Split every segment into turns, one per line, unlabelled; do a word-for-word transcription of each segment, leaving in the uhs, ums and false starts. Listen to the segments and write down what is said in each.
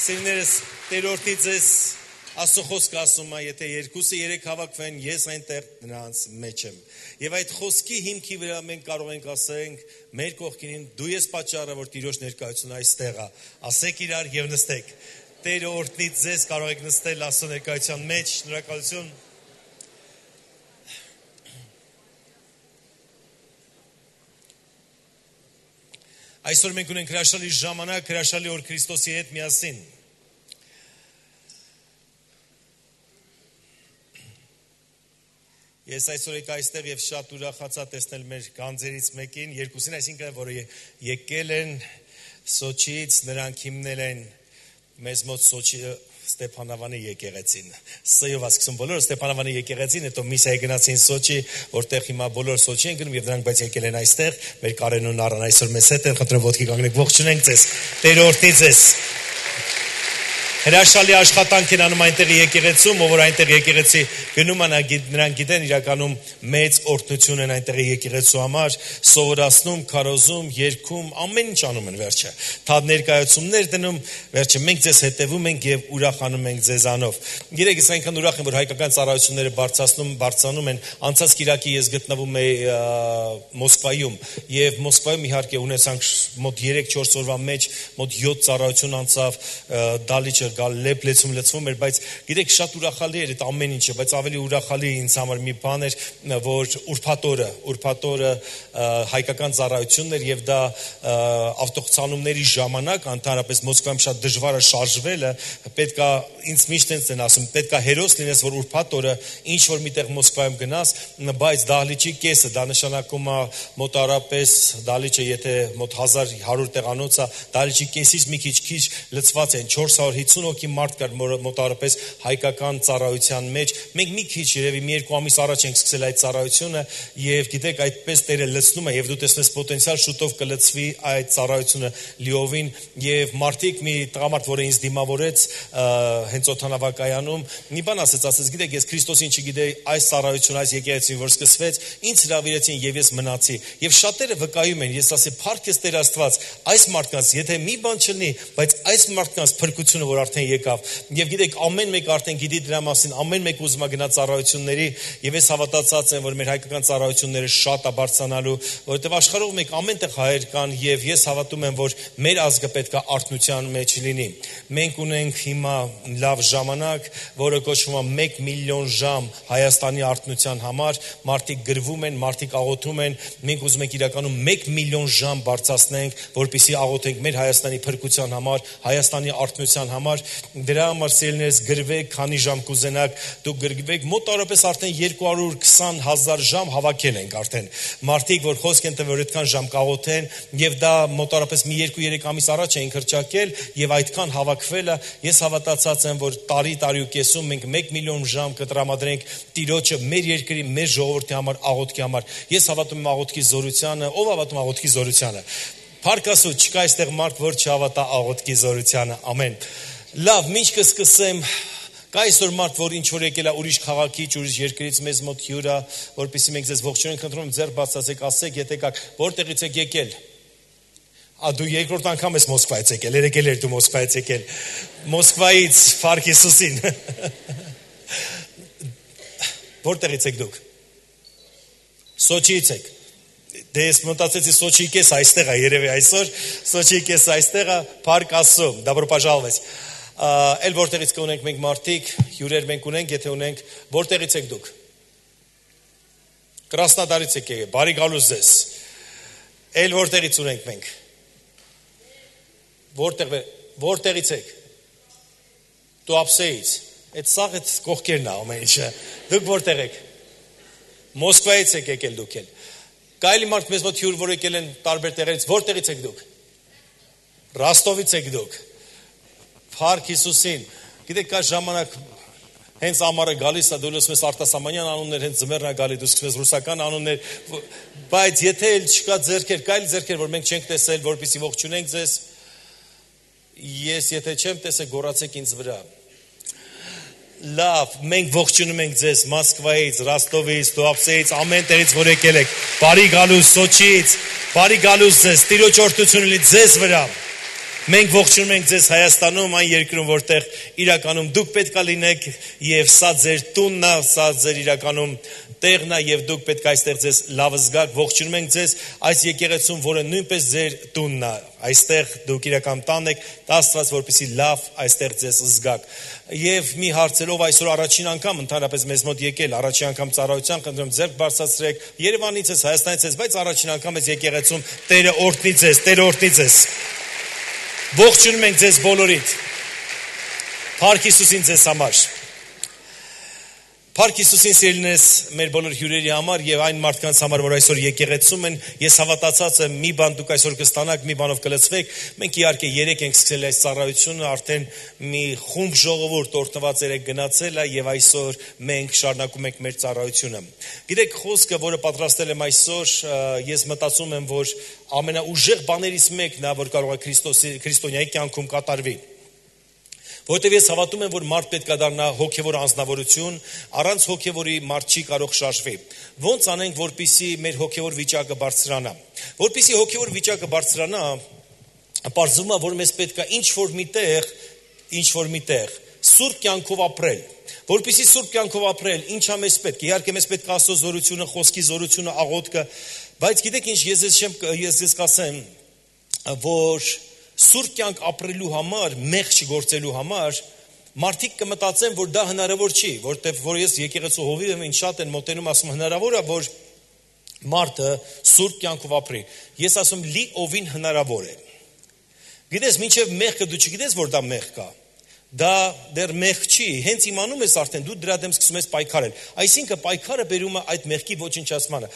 Սիրներս, Տերորդի ձեզ Աստծո խոսքը ասում է, եթե երկուսը երեք հավաքվեն, ես այնտեղ նրանց մեջ եմ։ Եվ այդ խոսքի հիմքի վրա մենք կարող ենք ասենք, մեր կողքին դու ես պատճառը, որ Տիրոջ ներկայությունը այստեղ է։ Ասեք իրար եւ նստեք։ Տերը օրհնի ձեզ, կարող եք նստել Աստծո ներկայության մեջ, շնորհակալություն։ Այսօր մենք ունենք հրաշալի ժամանակ, հրաշալի օր Քրիստոսի հետ միասին։ Ես այսօր եկա այստեղ եւ շատ ուրախացա տեսնել մեր գանձերից մեկին, երկուսին, այսինքն որը եկել են Սոչիից, նրանք հիմնել են մեզ մոտ Սոչի Ստեփանավանի եկեղեցին։ Սյով ասում բոլորը Ստեփանավանի եկեղեցին, հետո միսիա գնացին Սոչի, որտեղ հիմա բոլոր Սոչի են գնում եւ նրանք բայց եկել են այստեղ, մեր Կարենուն առան այսօր մեզ հետ են, խնդրեմ ոտքի կանգնեք, ողջունենք ձեզ, Տեր օրհնի ձեզ։ Հրաշալի աշխատանք են անում այնտեղ եկեղեցում, ով որ այնտեղ եկեղեցի գնում է, նրանք գիտեն իրականում մեծ օրհնություն են այնտեղ եկեղեցու համար, սովորացնում, քարոզում, երգում, ամեն ինչ անում են վերջը։ Թա ներկայացումներ դնում, վերջը մենք ձեզ հետևում ենք եւ ուրախանում ենք ձեզանով։ Գիտեք, ես այնքան ուրախ եմ, որ հայկական ծառայությունները բարձրացնում, բարձրանում են։ Անցած Կիրակի ես գտնվում եի Մոսկվայում եւ Մոսկվայում իհարկե ունեցանք մոտ երեք-չորս օրվա մեջ մոտ յոթ ծառայություն անցավ, դալիճը գալ լեփլեցում լցվում էր, բայց գիտեք շատ ուրախալի էր այդ ամեն ինչը, բայց ավելի ուրախալի ինձ համար մի բան էր, որ ուրբաթօրը, ուրբաթօրը հայկական ծառայությունն էր եւ դա ավտոցանումների ժամանակ, ընդհանրապես Մոսկվայում շատ դժվար է շարժվելը, պետքա ինձ միշտ են ասում, պետքա հերոս լինես, որ ուրբաթօրը ինչ որ միտեղ Մոսկվայում գնաս, բայց դահլիճի կեսը, դա նշանակում է մոտարապես դահլիճը, եթե մոտ հազար հարյուր տեղանոց է, դահլիճի կեսից մի քիչ քիչ լցված են չորս հարյուր հիսուն հոգի մարդ կար մոտարապես հայկական ծառայության մեջ։ Մենք մի քիչ երևի մի երկու ամիս առաջ ենք սկսել այդ ծառայությունը եւ գիտեք այդպես Տերը լցնում է եւ դու տեսնես պոտենցիալ շուտով կլցվի այդ ծառայությունը լիովին եւ մարդիկ մի տղամարդ, որը ինձ դիմավորեց հենց օթանավակայանում, մի բան ասեց, ասեց, գիտեք, ես Քրիստոսին չգիտեի, այս ծառայությունը, այս եկեղեցին որ սկսվեց, ինձ հրավիրեցին եւ ես մնացի։ Եվ շատերը վկայում են, ես ասի, փառք ես Տեր Աստված, այս մարդկանց, եթե մի բան չլինի, բայց այս մարդկանց փրկությունը որ արդեն եկավ։ Եվ գիտեք, ամեն մեկ արդեն գիտի դրա մասին, ամեն մեկ ուզում է գնա ծառայությունների, եւ ես հավատացած եմ, որ մեր հայկական ծառայությունները շատ է բարձրանալու, որովհետեւ աշխարհով մեկ ամենտեղ հայեր կան եւ ես հավատում եմ, որ մեր ազգը պետք է արթնության մեջ լինի։ Մենք ունենք հիմա լավ ժամանակ, որը կոչվում է մեկ միլիոն ժամ Հայաստանի արթնության համար, մարդիկ գրվում են, մարդիկ աղոթում են, մենք ուզում ենք իրականում մեկ միլիոն ժամ բարձրացնենք, որպեսզի աղոթենք մեր Հայաստանի փրկության համար, Հայաստանի արթնության համար, դրա համար սիրելիներս գրվեք, քանի ժամ կուզենաք, դուք գրվեք, մոտարապես արդեն երկու հարյուր քսան հազար ժամ հավաքել ենք արդեն։ Մարդիկ, որ խոսք են տվել, որ այդքան ժամ կաղոթեն, եւ դա մոտարապես մի երկու-երեք ամիս առաջ էին հրճակել եւ այդքան հավաքվելը, ես հավատացած եմ, որ տարի տարի ու կեսում մենք մեկ միլիոն ժամ կտրամադրենք Տիրոջը մեր երկրի, մեր ժողովրդի համար, աղոթքի համար։ Ես հավատում եմ աղոթքի զորությանը, ով հավատում աղոթքի զորությանը։ Փառք Աստծո, չկա այստեղ մարդ, որ չհավատա աղոթքի զորությանը։ Ամեն։ Լավ, ինչ կսկսեմ, կա այսօր մարդ, որ ինչ որ եկել է ուրիշ քաղաքից, ուրիշ երկրից մեզ մոտ հյուր է, որպեսզի մենք ձեզ ողջունենք, խնդրում եմ ձեռք բացացեք, ասեք, եթե կաք, որտեղից եք եկել։ Ա դու երկրորդ անգամ ես Մոսկվայից եկել, երեկել էր դու Մոսկվայից եկել։ Մոսկվայից, փառք Հիսուսին։ Որտեղից եք դուք։ Սոչիից եք։ Դե ես մտածեցի Սոչիի կես այստեղ է, երևի այսօր Սոչիի կես այստեղ է, փառք Աստծո, добро пожаловать։ Էլ որտեղից կունենք մենք մարդիկ, հյուրեր մենք ունենք, եթե ունենք, որտեղից եք դուք։ Կրասնոդարից եք եկել, բարի գալուս ձեզ։ Էլ որտեղից ունենք մենք։ Որտեղ որտեղից եք։ Туапсеից։ Այդ սաղ այդ կողքերն է ամեն ինչը։ Դուք որտեղ եք։ Մոսկվայից եք եկել դուք էլ։ Կայլի մարդ մեզ մոտ հյուր որ եկել են տարբեր տեղերից, որտեղից եք դուք։ Ռոստովից եք դուք։ Փառք Հիսուսին։ Գիտեք, կա ժամանակ հենց ամառը գալիս է, դու լսում ես արտասահմանյան անուններ, հենց ձմեռն է գալի, դու սկսում ես ռուսական անուններ, բայց եթե էլ չկա ձեռքեր, կայլ ձեռքեր, որ մենք չենք տեսել, որպեսզի ողջունենք ձեզ, ես եթե չեմ տեսել, գոռացեք ինձ վրա։ Լավ, մենք ողջունում ենք ձեզ Մոսկվայից, Ռոստովից, Туапсеից, ամեն տեղից որ եկել եք։ Բարի գալուս Սոչիից, բարի գալուս ձեզ, Տիրոջ օրհնությունը լինի ձեզ վրա։ Մենք ողջունում ենք ձեզ Հայաստանում, այն երկրում, որտեղ իրականում դուք պետք է լինեք եւ սա ձեր տունն է, սա ձեր իրականում տեղն է եւ դուք պետք է այստեղ ձեզ լավ զգաք։ Ողջունում ենք ձեզ այս եկեղեցում, որը նույնպես ձեր տունն է։ Այստեղ դուք իրական տան եք, Աստված որպեսզի լավ այստեղ ձեզ զգաք։ Եվ մի հարցերով այսօր առաջին անգամ ընդհանրապես մեզ մոտ եկել, առաջին անգամ ծառայության, խնդրում ձեռք բարձրացրեք, Երևանից ես, Հայաստանից ես, բայց առաջին անգամ ես եկեղեցում, Տերը օրհնի ձեզ, Տերը օրհնի ձեզ։ Ողջունում ենք ձեզ բոլորիդ։ Փառք Հիսուսին ձեզ համար։ Փառք Հիսուսին սիրելիներս մեր բոլոր հյուրերի համար եւ այն մարդկանց համար, որ այսօր եկեղեցում են, ես հավատացած եմ, մի բան դուք այսօր կստանաք, մի բանով կլցվեք։ Մենք իհարկե երեք ենք սկսել այս ծառայությունը, արդեն մի խումբ ժողովուրդ օրհնված երեք գնացել է եւ այսօր մենք շարունակում ենք մեր ծառայությունը։ Գիտեք, խոսքը, որը պատրաստել եմ այսօր, ես մտածում եմ, որ ամենաուժեղ բաներից մեկն է, որ կարող է Քրիստոսի քրիստոնյայի կյանքում կատարվի։ Որտեւ ես հավատում եմ, որ մարդ պետք է դառնա հոգևոր անձնավորություն, առանց հոգևորի մարդ չի կարող շարժվի։ Ոնց անենք, որպիսի մեր հոգևոր վիճակը բարձրանա։ Որպիսի հոգևոր վիճակը բարձրանա, պարզվում է, որ մեզ պետք է ինչ-որ միտեղ, ինչ-որ միտեղ սուրբ կյանքով ապրել։ Որպիսի սուրբ կյանքով ապրել, ինչա մեզ պետք։ Իհարկե մեզ պետք է Աստծո զորությունը, խոսքի զորությունը, աղոթքը, բայց գիտեք ինչ, ես ես չեմ ես ես կասեմ, որ սուրբ կյանք ապրելու համար, մեղք չգործելու համար, մարդիկ կմտածեն, որ դա հնարավոր չի, որտեղ որ ես եկեղեցու հովիվ եմ, ինձ շատ են մոտենում, ասում հնարավոր է, որ մարդը սուրբ կյանքով ապրի։ Ես ասում լիովին հնարավոր է։ Գիտես, մինչև մեղքը դու չգիտես, որ դա մեղք է։ Դա դեռ մեղք չի, հենց իմանում ես արդեն, դու դրա դեմ սկսում ես պայքարել։ Այսինքն պայքարը բերում է այդ մեղքի ոչնչացմանը։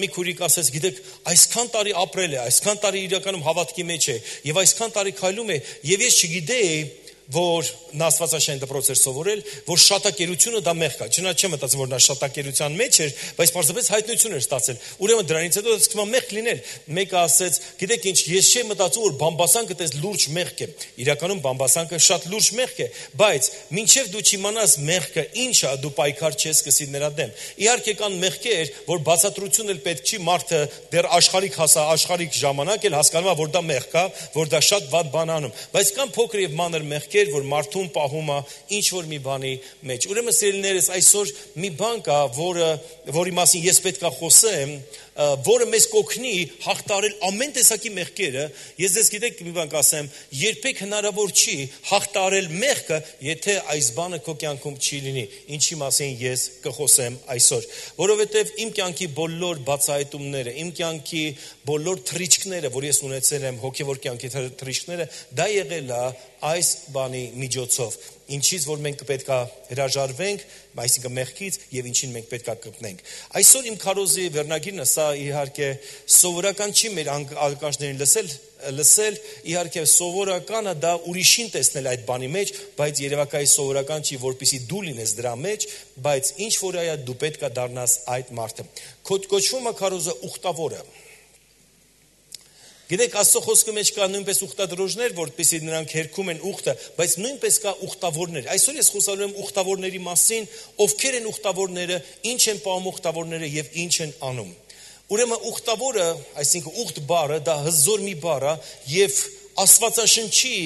Մի քուրիկ ասեց, գիտեք, այսքան տարի ապրել է, այսքան տարի իրականում հավատքի մեջ է, եւ այսքան տարի քայլում է, եւ ես չգիտեի, որ նա Աստվածաշեն դպրոց էր սովորել, որ շատակերությունը դա մեղք է։ Չնայած չեմ մտածում, որ նա շատակերության մեջ էր, բայց պարզապես հայտնություն էր ստացել։ Ուրեմն դրանից հետո սկսում է մեղք լինել։ Մեկը ասեց, գիտեք ինչ, ես չեմ մտածում, որ բամբասանքը դες լուրջ մեղք է։ Իրականում բամբասանքը շատ լուրջ մեղք է, բայց մինչև դու չիմանաս մեղքը ինչ է, դու պայքար չես սկսի նրա դեմ։ Իհարկե կան մեղքեր, որ բացատրություն էլ պետք չի, մարդը դեռ աշխարհիկ հասա, աշխարհիկ ժամանակ էլ հասկանում է, որ դա մեղք է, որ դա շատ վատ բան անում։ Բայց կան փոքր եւ մանր մեղքեր, որ մարդուն պահում է ինչ որ մի բանի մեջ։ Ուրեմն սիրելիներս, այսօր մի բան կա, որը որի մասին ես պետք է խոսեմ, որը մեզ կօգնի հաղթարել ամեն տեսակի մեղքերը։ Ես ձեզ գիտեք մի բան կասեմ, երբեք հնարավոր չի հաղթարել մեղքը, եթե այս բանը քո կյանքում չի լինի։ Ինչի մասին ես կխոսեմ այսօր, որովհետև իմ կյանքի բոլոր բացահայտումները, իմ կյանքի բոլոր թռիչքները, որ ես ունեցել եմ, հոգևոր կյանքի թռիչքները, դա եղել է այս բանի միջոցով, ինչից որ մենք պետք է հրաժարվենք, այսինքն մեղքից, եւ ինչին մենք պետք է կպնենք։ Այսօր իմ քարոզի վերնագիրն է, սա իհարկե սովորական չի մեր ալկանջներին լսել, լսել, իհարկե սովորականը դա ուրիշին տեսնել այդ բանի մեջ, բայց երևակայի սովորական չի, որպեսզի դու լինես դրա մեջ, բայց ինչ որ այա դու պետք է դառնաս այդ մարդը։ Կոչվում է քարոզը ուխտավորը։ Գիտեք, Աստծո խոսքի մեջ կա նույնպես ուխտադրոժներ, որպեսզի նրանք հերքում են ուխտը, բայց նույնպես կա ուխտավորներ։ Այսօր ես խոսալու եմ ուխտավորների մասին, ովքեր են ուխտավորները, ինչ են պահում ուխտավորները եւ ինչ են անում։ Ուրեմն ուխտավորը, այսինքն ուխտ բառը, դա հզոր մի բառ է եւ Աստվածաշնչի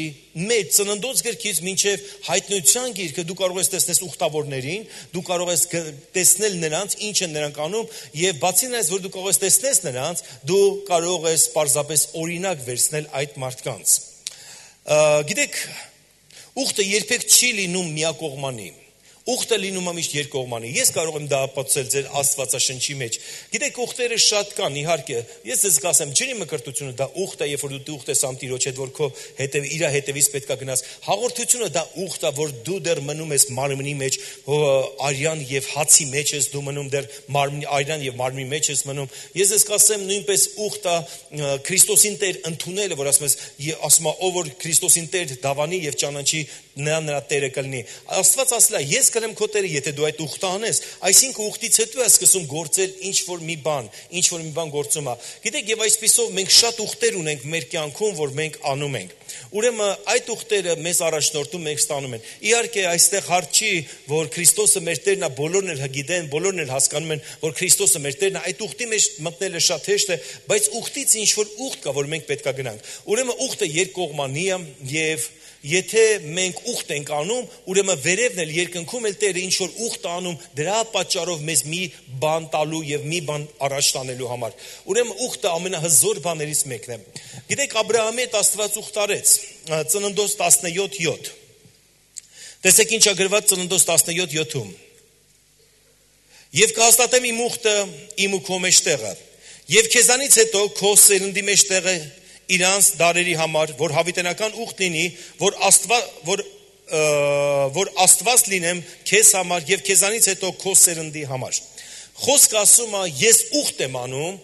մեջ ծննդոց գրքից մինչև հայտնության գիրքը դու կարող ես տեսնել ուխտավորներին, դու կարող ես տեսնել նրանց, ինչ են նրանք անում, եւ բացի նրանից, որ դու կարող ես տեսնել նրանց, դու կարող ես պարզապես օրինակ վերցնել այդ մարդկանց։ Գիտեք, ուխտը երբեք չի լինում միակողմանի։ Ուխտը լինում է միշտ երկկողմանի։ Ես կարող եմ դա ապացուցել ձեր Աստվածաշնչի մեջ։ Գիտեք, ուխտերը շատ կան, իհարկե։ Ես ձեզ կասեմ, ջրի մկրտությունը դա ուխտ է, երբ որ դու ուխտ ես ամ Տիրոջ հետ, որ քո հետև իր հետևից պետք է գնաս։ Հաղորդությունը դա ուխտ է, որ դու դեռ մնում ես մարմնի մեջ, արյան եւ հացի մեջ ես դու մնում, դեռ մարմնի արյան եւ մարմնի մեջ ես մնում։ Ես ձեզ կասեմ, նույնպես ուխտ է Քրիստոսին Տեր ընդունելը, որ ասում ես, ասում է, ով որ Քրիստոսին Տեր դավանի եւ ճանաչի, նա նրա Տերը կլինի։ Աստված ասել է, ես կրեմ քո Տերը, եթե դու այդ ուխտը անես։ Այսինքն ուխտից հետո է սկսում գործել ինչ որ մի բան, ինչ որ մի բան գործում է։ Գիտեք, եւ այսպիսով մենք շատ ուխտեր ունենք մեր կյանքում, որ մենք անում ենք։ Ուրեմն այդ ուխտերը մեզ առաջնորդում մենք ստանում են։ Իհարկե, այստեղ հարց չի, որ Քրիստոսը մեր Տերն է, բոլորն էլ գիտեն, բոլորն էլ հասկանում են, որ Քրիստոսը մեր Տերն է, այդ ուխտի մեջ մտնելը շատ հեշտ է, բայց ուխտից ինչ որ ուխտ կա, որ մենք պետք է գնանք։ Ուրեմն ուխտը երկկողմանի է եւ եթե մենք ուխտ ենք անում, ուրեմն վերևն էլ երկնքում էլ Տերը ինչ որ ուխտ անում, դրա պատճառով մեզ մի բան տալու եւ մի բան առաջ տանելու համար։ Ուրեմն ուխտը ամենահզոր բաներից մեկն է։ Գիտեք, Աբրահամի հետ Աստված ուխտ արեց, Ծննդոց տասնյոթ յոթ։ Տեսեք ինչ է գրված Ծննդոց տասնյոթ յոթում։ Եվ կհաստատեմ իմ ուխտը իմ ու քո մեջտեղը, եւ քեզանից հետո քո սերնդի մեջտեղը իրանց դարերի համար, որ հավիտենական ուխտ լինի, որ Աստված որ որ Աստված լինեմ քեզ համար եւ քեզանից հետո քո սերնդի համար։ Խոսքը ասում է, ես ուխտ եմ անում,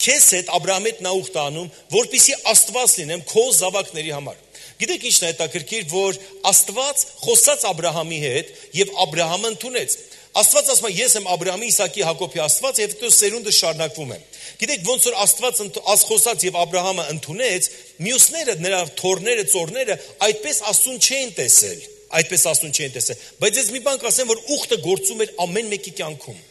քեզ հետ Աբրահամի հետ նա ուխտ անում, որպեսզի Աստված լինեմ քո զավակների համար։ Գիտեք ինչն է հետաքրքիր, որ Աստված խոսած Աբրահամի հետ եւ Աբրահամը ընդունեց։ Աստված ասում է, ես եմ Աբրահամի, Իսակի, Հակոբի Աստված եւ հետո սերունդը շարունակվում է։ Գիտեք, ոնց որ Աստված խոսած եւ Աբրահամը ընդունեց, մյուսները, նրա թորները, ծորները այդպես Աստուն չէին տեսել, այդպես Աստուն չէին տեսել։ Բայց ես մի բան կասեմ, որ ուխտը գործում էր ամեն մեկի կյանքում։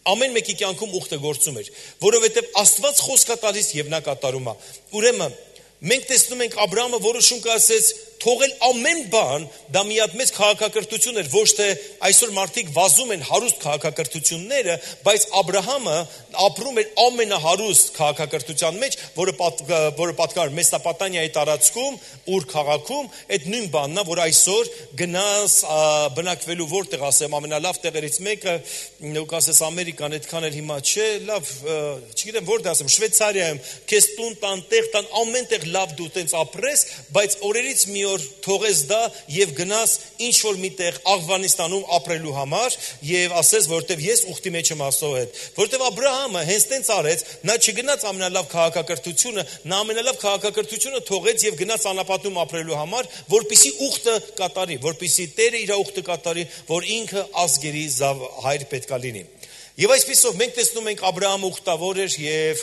Ամեն մեկի կյանքում ուխտը գործում էր, որովհետեւ Աստված խոսքա տալիս եւ նա կատարում է։ Ուրեմն մենք տեսնում ենք Աբրահամը որոշում կայացրեց թողել ամեն բան, դա մի հատ մեծ քաղաքակրթություն էր, ոչ թե այսօր մարդիկ վազում են հարուստ քաղաքակրթությունները, բայց Աբրահամը ապրում էր ամենահարուստ քաղաքակրթության մեջ, որը պատ, որը պատկառ Մեսոպոտամիայի տարածքում, Ուր քաղաքում, այդ նույն բանն է, որ այսօր գնաս բնակվելու որտեղ ասեմ, ամենալավ տեղերից մեկը, ու կասես Ամերիկան, այդքան էլ հիմա չէ, լավ, չգիտեմ որտեղ ասեմ, Շվեյցարիայում, քեզ տուն տան, տեղ տան, ամեն տեղ լավ դու տենց ապրես, բայց օրերից մի օր թողես դա եւ գնաս ինչ որ միտեղ Աղվանիստանում ապրելու համար եւ ասես որտեվ ես ուխտի մեջ եմ Աստծո հետ, որտեվ Աբրահամը հենց տենց արեց, նա չգնաց ամենալավ քաղաքակրթությունը, նա ամենալավ քաղաքակրթությունը թողեց եւ գնաց անապատում ապրելու համար, որպիսի ուխտը կատարի, որպիսի Տերը իր ուխտը կատարի, որ ինքը ազգերի հայր պետքա լինի։ Եվ այսպիսով մենք տեսնում ենք Աբրահամը ուխտավոր էր եւ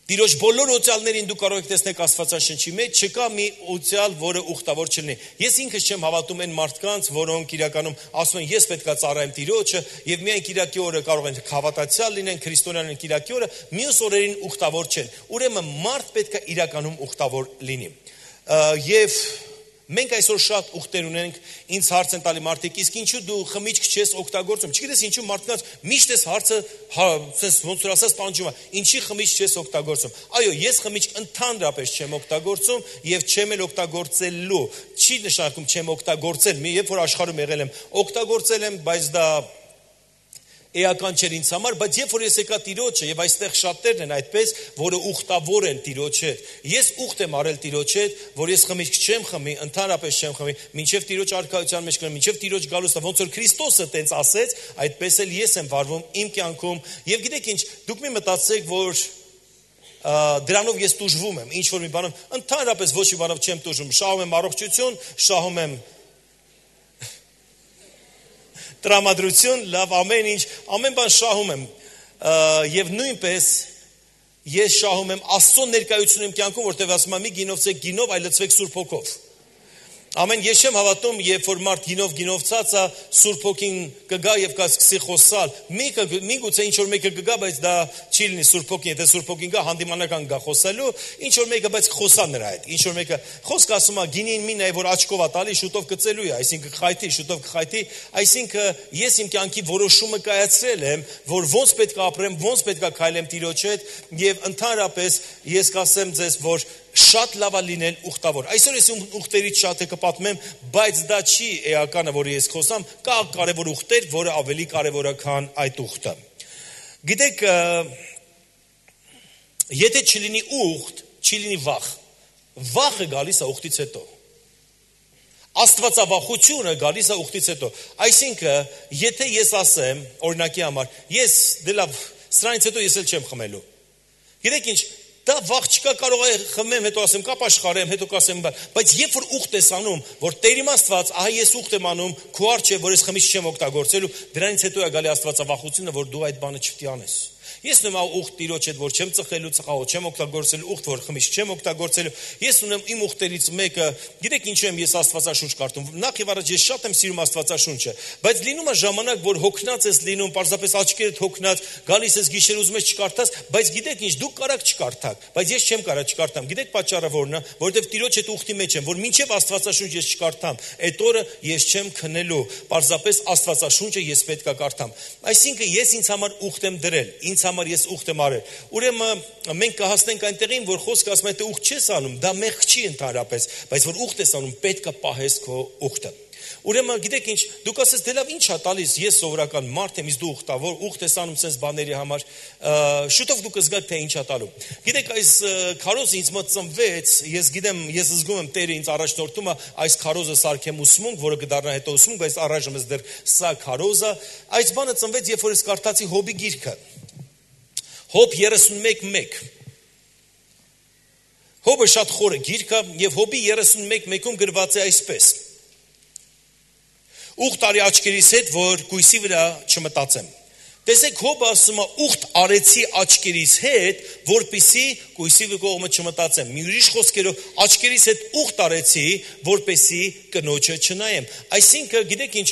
Տիրոջ բոլոր օծյալներին դու կարող եք տեսնել Աստվածաշնչի մեջ, չկա մի օծյալ, որը ուխտավոր չլինի։ Ես ինքս չեմ հավատում այն մարդկանց, որոնք իրականում ասում են, ես պետքա ծառայեմ Տիրոջը, եւ միայն Կիրակի օրը կարող են հավատացյալ լինեն, քրիստոնյան են Կիրակի օրը, մյուս օրերին ուխտավոր չեն։ Ուրեմն մարդ պետքա իրականում ուխտավոր լինի։ Եվ մենք այսօր շատ ուխտեր ունենք, ինձ հարց են տալի մարդիկ, իսկ ինչու դու խմիչք չես օգտագործում։ Չգիտես ինչու մարդկանց միշտ էս հարցը, հա, ոնց որ ասած տանջում է, ինչի խմիչք չես օգտագործում։ Այո, ես խմիչք ընդհանրապես չեմ օգտագործում եւ չեմ էլ օգտագործելու։ Չի նշանակում չեմ օգտագործել, մի երբ որ աշխարհում եղել եմ, օգտագործել եմ, բայց դա էական չէր ինձ համար, բայց երբ որ ես եկա Տիրոջը եւ այստեղ շատերն են այդպես, որը ուխտավոր են Տիրոջ հետ։ Ես ուխտ եմ արել Տիրոջ հետ, որ ես խմիչք չեմ խմի, ընդհանրապես չեմ խմի, մինչեւ Տիրոջ արքայության մեջ կգնամ, մինչեւ Տիրոջ գալուստը, ոնց որ Քրիստոսը տենց ասեց, այդպես էլ ես եմ վարվում իմ կյանքում։ Եվ գիտեք ինչ, դուք մի մտածեք, որ դրանով ես տուժվում եմ, ինչ որ մի բանով, ընդհանրապես ոչ մի բանով չեմ տուժում, շահում եմ առողջություն, շահում եմ տրամադրություն, լավ, ամեն ինչ, ամեն բան շահում եմ եւ նույնպես ես շահում եմ Աստծո ներկայությունը իմ կյանքում, որտեղ ասում եմ՝ մի գինովցեք գինով, այլ լցվեք Սուրբ Հոգով։ Ամեն ես չեմ հավատում, երբ որ մարդ գինով գինովցած է, Սուրբ Հոգին կգա եւ կսկսի խոսալ։ Մեկը միգուցե ինչ որ մեկը կգա, բայց դա չի լինի Սուրբ Հոգին, եթե Սուրբ Հոգին գա, հանդիմանական գա խոսելու, ինչ որ մեկը բայց խոսա նրա հետ։ Ինչ որ մեկը խոսք ասում է, գինին մին է, որ աչքով է տալի, շուտով կծելու է, այսինքն խայթի, շուտով կխայթի, այսինքն ես իմ կյանքի որոշումը կայացրել եմ, որ ոնց պետք է ապրեմ, ոնց պետք է քայլեմ Տիրոջ հետ եւ ընդհանրապես ես կասեմ ձեզ, որ շատ լավ է լինել ուխտավոր։ Այսօր ես ուխտերից շատը կպատմեմ, բայց դա չի էականը, որը ես խոսամ, կա կարևոր ուխտեր, որը ավելի կարևոր է, քան այդ ուխտը։ Գիտեք, եթե չլինի ուխտ, չի լինի վախ։ Վախը գալիս է ուխտից հետո։ Աստվածավախությունը գալիս է ուխտից հետո։ Այսինքն, եթե ես ասեմ, օրինակի համար, ես դե լավ, սրանից հետո ես էլ չեմ խմելու։ Գիտեք ինչ, Դա վաղ չկա կարող է խմեմ, հետո ասեմ կապ աշխարհեմ, հետո կասեմ, բայց երբ որ ուխտ ես անում, որ Տեր իմ Աստված, ահա ես ուխտ եմ անում, քո արջ է, որ ես խմիչք չեմ օգտագործելու, դրանից հետո է գալի Աստվածավախությունը, որ դու այդ բանը չպետք է անես։ Ես ունեմ ուխտ Տիրոջ հետ, որ չեմ ծխելու, ծխախոտ չեմ օգտագործելու, ուխտ որ խմիչք չեմ օգտագործելու։ Ես ունեմ իմ ուխտերից մեկը, գիտեք ինչու եմ ես Աստվածաշունչ կարդում։ Նախ եւ առաջ ես շատ եմ սիրում Աստվածաշունչը, բայց լինում է ժամանակ, որ հոգնած ես լինում, պարզապես աչքերդ հոգնած, գալիս ես գիշեր ուզում ես չկարդաս, բայց գիտեք ինչ, դուք կարաք չկարդաք, բայց ես չեմ կարա չկարդամ։ Գիտեք պատճառը որն է, որովհետեւ Տիրոջ հետ ուխտի մեջ եմ, որ մինչեւ Աստվածաշունչ ես չկարդամ, այդ օրը ես չեմ քնելու, պարզապես Աստվածաշունչը ես պետք է կարդամ։ Այսինքն ես ինձ համար ուխտ եմ դրել, ինձ համար ես ուխտ եմ արել։ Ուրեմն մենք կհասնենք այնտեղին, որ խոսքը ասում է թե ուխտ չես անում, դա մեղք չի ընդհանրապես, բայց որ ուխտ ես անում, պետք է պահես քո ուխտը։ Ուրեմն գիտեք ինչ, դուք ասես դե լավ ի՞նչ է տալիս, ես սովորական մարդ եմ, իսկ դու ուխտավոր, ուխտ ես անում sense բաների համար, շուտով դուք կզգաք թե ինչ է տալու։ Գիտեք այս քարոզը ինձ մոտ ծնվեց, ես գիտեմ, ես զգում եմ Տերը ինձ առաջնորդում է այս քարոզը սարքեմ ուսմունք, որը կդառնա հետո ուսմունք, բայց առայժմ ես դեռ սա քարոզը, այս բանը ծնվեց, երբ որ ես կարդացի Հոբի գիրքը։ Հոբ երեսունմեկ մեկ։ Հոբը շատ խորը գիրք է եւ Հոբի երեսունմեկ մեկում գրված է այսպես. Ուխտ արի աչքերիս հետ, որ կույսի վրա չմտածեմ։ Տեսեք Հոբը ասում է ուխտ արեցի աչքերիս հետ, որպեսզի կույսի կողմը չմտածեմ։ Մի ուրիշ խոսքերով աչքերիս հետ ուխտ արեցի, որպեսզի կնոջը չնայեմ։ Այսինքն գիտեք ինչ,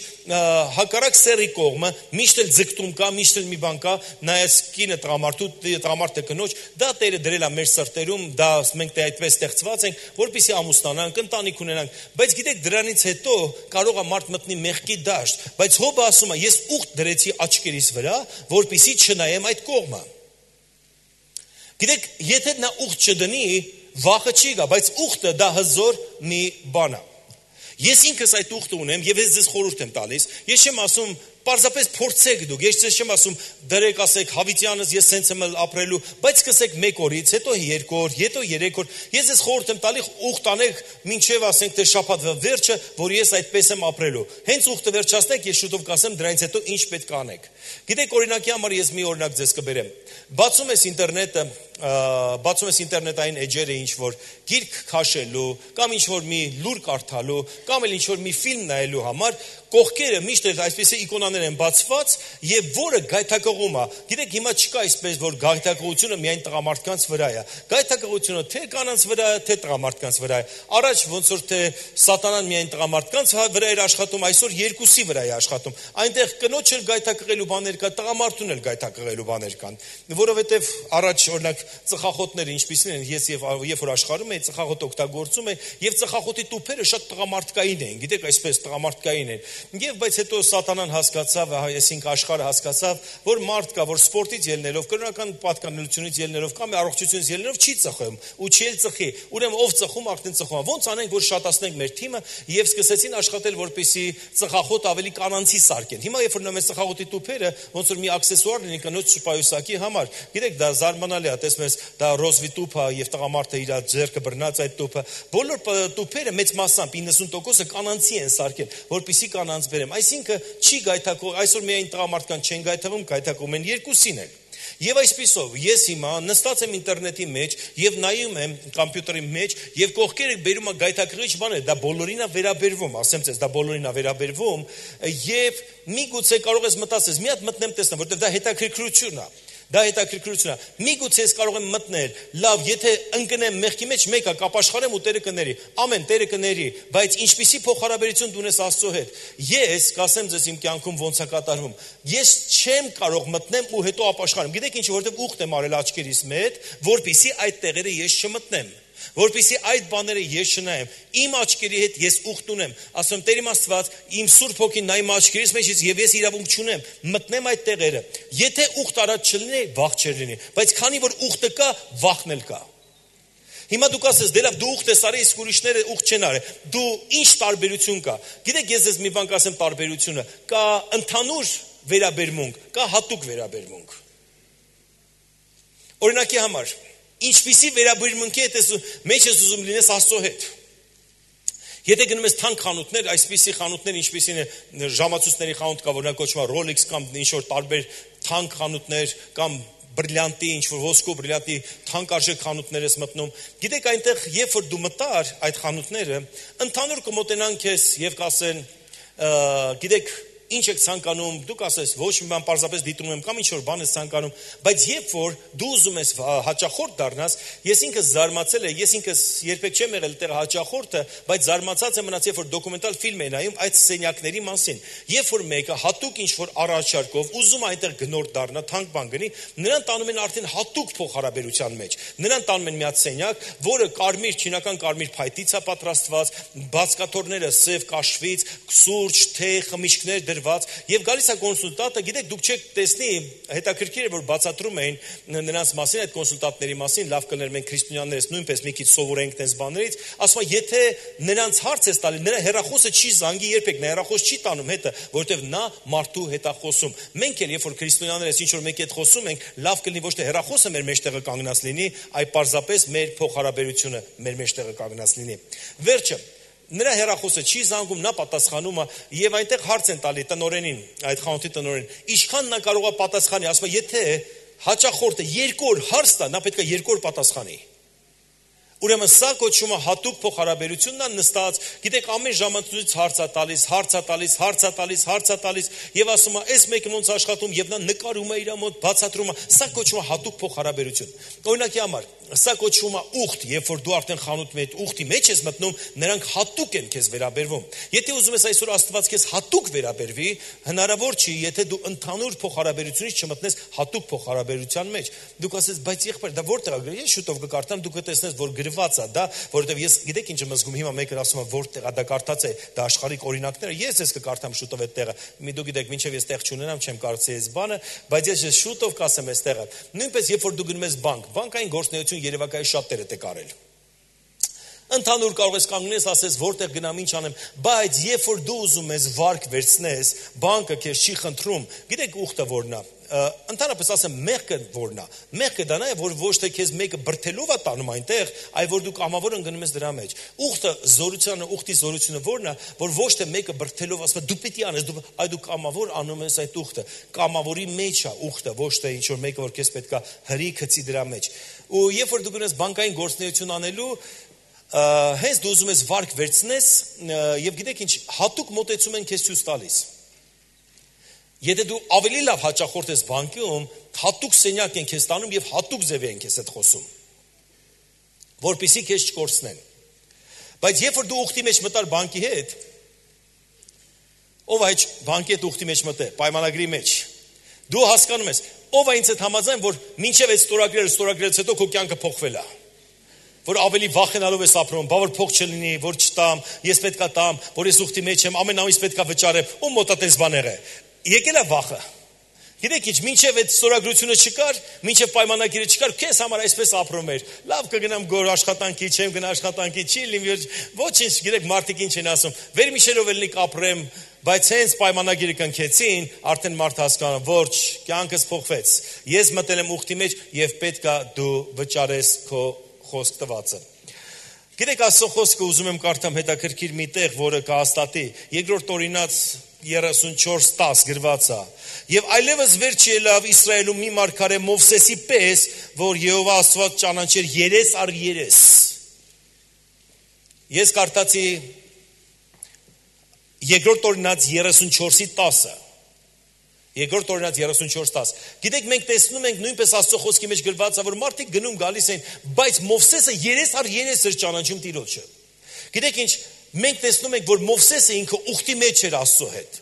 հակառակ սեռի կողմը միշտ էլ ձգտում կա, միշտ էլ մի բան կա, նայես կինը տղամարդու, տղամարդը կնոջ, դա Տերը դրել է մեր սրտերում, դա մենք դե այդպես ստեղծված ենք, որպեսզի ամուսնանանք, ընտանիք ունենանք, բայց գիտեք դրանից հետո կարող է մարդ մտնի մեղքի դաշտ, բայց Հոբը ասում է ես ուխտ դրեցի աչքերիս վրա, որպեսզի չնայեմ այդ կողմը։ Գիտեք, եթե նա ուխտ չդնի, վախը չի գա, բայց ուխտը դա հզոր մի բան է։ Ես ինքս այդ ուխտը ունեմ եւ ես ձեզ խորհուրդ եմ տալիս։ Ես չեմ ասում պարզապես փորձեք դուք, ես չեմ ասում դրեք ասեք հավիտյանս ես սենց եմ ապրելու, բայց սկսեք մեկ օրից, հետո երկու օր, հետո երեք օր։ Ես ձեզ խորհուրդ եմ տալի ուխտ անեք մինչև ասենք թե շաբաթվա վերջը, որ ես այդպես եմ ապրելու։ Հենց ուխտը վերջացնեք, ես շուտով կասեմ դրանից հետո ինչ պետք է անեք։ Գիտեք օրինակի համար ես մի օրինակ ձեզ կբերեմ։ Բացում ես ինտերնետը, բացում ես ինտերնետային էջերը ինչ որ գիրք քաշելու, կամ ինչ որ մի լուր կարդալու, կամ էլ ինչ որ մի ֆիլմ նայելու համար, կողքերը միշտ էլ այսպեսի իկոնաներ են բացված եւ որը գայթակղում է։ Գիտեք հիմա չկա այսպես որ գայթակղությունը միայն տղամարդկանց վրա է։ Գայթակղությունը թե կանանց վրա է, թե տղամարդկանց վրա է։ Առաջ ոնց որ թե սատանան միայն տղամարդկանց վրա էր աշխատում, այսօր երկուսի վրա է աշխատում։ Այնտեղ կնոջ էլ գայթակղելու բաներ կա, տղամարդուն էլ գայթակղելու բաներ կան։ Որովհետեւ առաջ օրինակ ծխախոտները ինչպիսին են, ես եւ երբ որ աշխարհում էի ծխախոտ օգտագործում էի եւ ծխախոտի տուփերը շատ տղամարդկային էին, գիտեք այսպես տղամարդկային են։ Եվ բայց հետո սատանան հասկացավ, այսինքն աշխարհը հասկացավ, որ մարդ կա, որ սպորտից ելնելով, կրոնական պատկանելությունից ելնելով կամ առողջությունից ելնելով չի ծխում, ու չի էլ ծխի։ Ուրեմն ով ծխում, արդեն ծխում։ Ոնց անենք, որ շատացնենք մեր թիմը եւ սկսեցին աշխատել, որպեսզի ծխախոտ ավելի կանանցի սարքեն։ Հիմա երբ որ նայում ես ծխախոտի տուփերը, ոնց որ մի աքսեսուար լինի կնոջ շպայուսակի համար։ Գիտեք, դա զարմանալի է, տեսնում ես, դա ռոզվի տուփը եւ տղամարդը իր ձեռքը բռնած այդ տուփը։ Բոլոր տուփերը մեծ մասամբ իննսուն տոկոսը կանանցի են սարքել, որպեսզի կանանց բերեմ։ Այսինքն չի գայթակղում, այսօր միայն տղամարդկան չեն գայթակղում, գայթակղում են երկուսին էլ։ Եվ այսպիսով ես հիմա նստած եմ ինտերնետի մեջ եւ նայում եմ համբյուտերի մեջ եւ կողքերը բերում է գայթակղիչ բաներ, դա բոլորին է վերաբերվում, ասեմ ձեզ, դա բոլորին է վերաբերվում եւ միգուցե կարող ես մտածես, մի հատ մտնեմ տեսնեմ, որտեղ դա հետաքրքրություն է։ Դա հետաքրքրություն է։ Միգուցե ես կարող եմ մտնել, լավ, եթե ընկնեմ մեղքի մեջ, մեկը կապաշխարեմ ու Տերը կների։ Ամեն Տերը կների, բայց ինչպիսի փոխհարաբերություն դու ունես Աստծո հետ։ Ես կասեմ ձեզ իմ կյանքում ոնց է կատարվում։ Ես չեմ կարող մտնեմ ու հետո ապաշխարեմ։ Գիտեք ինչ, որովհետև ուխտ եմ արել աչքերիս մեջ, որպեսզի այդ տեղերը ես չմտնեմ։ Որպեսզի այդ բաները ես չնայեմ, իմ աչքերի հետ ես ուխտ ունեմ, ասում Տեր իմ Աստված, իմ Սուրբ Հոգին նայում աչքերիս մեջից եւ ես իրավունք չունեմ, մտնեմ այդ տեղերը։ Եթե ուխտ արած չլինի, վախ չլինի, բայց քանի որ ուխտը կա, վախն էլ կա։ Հիմա դուք ասես, դե լավ, դու ուխտ ես արել, իսկ ուրիշները ուխտ չեն արել։ Դու ինչ տարբերություն կա։ Գիտեք, ես ձեզ մի բան կասեմ տարբերությունը, կա ընդհանուր վերաբերմունք, կա հատուկ վերաբերմունք։ Օրինակի համար ինչպիսի վերաբերմունքի հետ ես մեջ ես ուզում լինես Աստծո հետ։ Եթե գնում ես թանկ խանութներ, այսպիսի խանութներ ինչպիսին է ժամացույցների խանութ կա, որ նա կոչվում է Rolex կամ ինչ որ տարբեր թանկ խանութներ կամ բրիլյանտի, ինչ որ ոսկու բրիլյանտի թանկարժեք խանութներ ես մտնում։ Գիտեք, այնտեղ երբ որ դու մտար այդ խանութները, ընդհանուր կմոտենան քեզ եւ կասեն, գիտեք, ինչ եք ցանկանում, դուք ասես, ոչ մի բան պարզապես դիտում եմ կամ ինչ որ բան ես ցանկանում, բայց երբ որ դու ուզում ես հաճախորդ դառնաս, ես ինքս զարմացել եմ, ես ինքս երբեք չեմ եղել այդտեղ հաճախորդը, բայց զարմացած եմ մնաց, երբ որ դոկումենտալ ֆիլմ եմ նայում այդ սենյակների մասին։ Երբ որ մեկը հատուկ ինչ որ առաջարկով ուզում այնտեղ գնորդ դառնա, թանկ բան գնի, նրան տանում են արդեն հատուկ փոխհարաբերության մեջ։ Նրան տանում են մի հատ սենյակ, որը կարմիր, չինական կարմիր փայտից է պատրաստված, բացկաթոռները սև կաշվից, սուրճ, թեյ, խմիչքներ եւ գալիս է կոնսուլտանտը, գիտեք, դուք չեք տեսնի, հետաքրքիր է որ բացատրում էին նրանց մասին, այդ կոնսուլտանտների մասին, լավ կներ մենք քրիստոնյաներս նույնպես մի քիչ սովորենք այս բաներից, ասում է, եթե նրանց հարց ես տալի, նրա հեռախոսը չի զանգի երբեք, նա հեռախոս չի տանում հետը, որովհետեւ նա մարդու հետ է խոսում։ Մենք էլ երբ որ քրիստոնյաներս ինչ որ մեկի հետ խոսում ենք, լավ կլինի ոչ թե հեռախոսը մեր մեջտեղը կանգնած լինի, այլ պարզապես մեր փոխհարաբերությունը մեր մեջտեղը կանգնած լինի։ Վերջը նրա հեռախոսը չի զանգում, նա պատասխանում է եւ այնտեղ հարց են տալի տնօրենին, այդ խանութի տնօրենին, ինչքան նա կարող է պատասխանի, ասում է, եթե հաճախորդը երկու օր հարց տա, նա պետք է երկու օր պատասխանի։ Ուրեմն սա կոչվում է հատուկ փոխհարաբերությունն է նստած, գիտեք, ամեն ժամանցից հարց է տալիս, հարց է տալիս, հարց է տալիս, հարց է տալիս եւ ասում է, այս մեկը ոնց աշխատում եւ նա նկարում է իր մոտ, բացատրում է, սա կոչվում է հատուկ փոխհարաբերություն։ Օրինակի համար, սա կոչվում է ուխտ, երբ որ դու արդեն խանութի մեջ ուխտի մեջ ես մտնում, նրանք հատուկ են քեզ վերաբերվում։ Եթե ուզում ես այսօր Աստված քեզ հատուկ վերաբերվի, հնարավոր չի, եթե դու ընդհանուր փոխհարաբերությունից չմտնես հատուկ փոխհարաբերության մեջ։ Դուք ասես, բայց եղբայր, դա որտեղ է գրել, ես շուտով կկարդամ, դուք կտեսնես, որ գրված է դա, որովհետև ես գիտեք ինչ եմ զգում, հիմա մեկը ասում է, որտեղ է դա կարդաց է, դա աշխարհիկ օրինակները, ես ես կկարդամ շուտով այդ տեղը։ Մի դու գիտեք, մինչև ես տեղ չունենամ, չեմ կարծի այս բանը, բայց ես շուտով կասեմ այս տեղը։ Նույնպես երբ որ դու գնում ես բանկ, բանկային գործունեություն երևակայի շատերը դե կարել։ Ընդհանուր կարող ես կանգնես, ասես որտեղ գնամ, ինչ անեմ, բայց երբ որ դու ուզում ես վարկ վերցնես, բանկը քեզ չի խնդրում, գիտեք ուխտը որն է, ընդհանրապես ասեմ մեղքը որն է, մեղքը դա է, որ ոչ թե քեզ մեկը բրթելով է տանում այնտեղ, այլ որ դու կամավոր ընկնում ես դրա մեջ։ Ուխտը զորությունը, ուխտի զորությունը որն է, որ ոչ թե մեկը բրթելով ասում է դու պիտի անես, դու այ դու կամավոր անում ես այդ ուխտը, կամավորի մեջ է ուխտը, ոչ թե ինչ որ մեկը որ քեզ պետքա հրի գցի դրա մեջ։ Ու երբ որ դու գնաս բանկային գործունեություն անելու, հենց դու ուզում ես վարկ վերցնես, եւ գիտեք ինչ, հատուկ մոտեցում են քեզ ցույց տալիս։ Եթե դու ավելի լավ հաճախորդ ես բանկում, հատուկ սենյակ են քեզ տանում եւ հատուկ ձև են քեզ հետ խոսում, որպեսզի քեզ չկորցնեն։ Բայց երբ որ դու ուխտի մեջ մտար բանկի հետ, ով է բանկի հետ ուխտի մեջ մտե, պայմանագրի մեջ, դու հասկանում ես, ով է ինձ հետ համաձայն, որ մինչև այդ ստորագրերը, ստորագրելուց հետո քո կյանքը փոխվել է։ Որ ավելի վախենալով ես ապրում, բա որ փող չլինի, որ չտամ, ես պետքա տամ, որ ես ուխտի մեջ եմ, ամեն ամիս պետքա վճարեմ, ում մոտ է տես բաները։ Եկել է վախը։ Գիտեք ինչ, մինչև այդ ստորագրությունը չկար, մինչև պայմանագիրը չկար, քեզ համար այսպես ապրում էր։ Լավ կգնամ գոր աշխատանքի, չեմ գնա աշխատանքի, չի լինի, ոչինչ, գիտեք մարդիկ ինչ են ասում։ Վերմիշելով էլնի կապրեմ, բայց հենց պայմանագիրը կնքեցին, արդեն մարդ հասկանում, ոչ, կյանքս փոխվեց։ Ես մտել եմ ուխտի մեջ եւ պետքա դու վճարես քո խոսք տվածը։ Գիտեք, Աստծո խոսքը ուզում եմ կարդամ հետաքրքիր մի տեղ, որը կհաստատի։ Երկրորդ օրինաց երեսունչորս տասը գրված է։ Եվ այլևս վերջ ելավ Իսրայելում մի մարգարե Մովսեսի պես, որ Եհովա Աստված ճանաչեր երես առ երես։ Ես կարդացի երկրորդ օրինաց երեսունչորսի տասը։ Երկրորդ օրինաց երեսունչորս տասը։ Գիտեք, մենք տեսնում ենք նույնպես Աստծո խոսքի մեջ գրված է, որ մարդիկ գնում գալիս են, բայց Մովսեսը երես առ երես էր ճանաչում Տիրոջը։ Գիտեք ինչ, մենք տեսնում ենք, որ Մովսեսը ինքը ուխտի մեջ էր Աստծո հետ։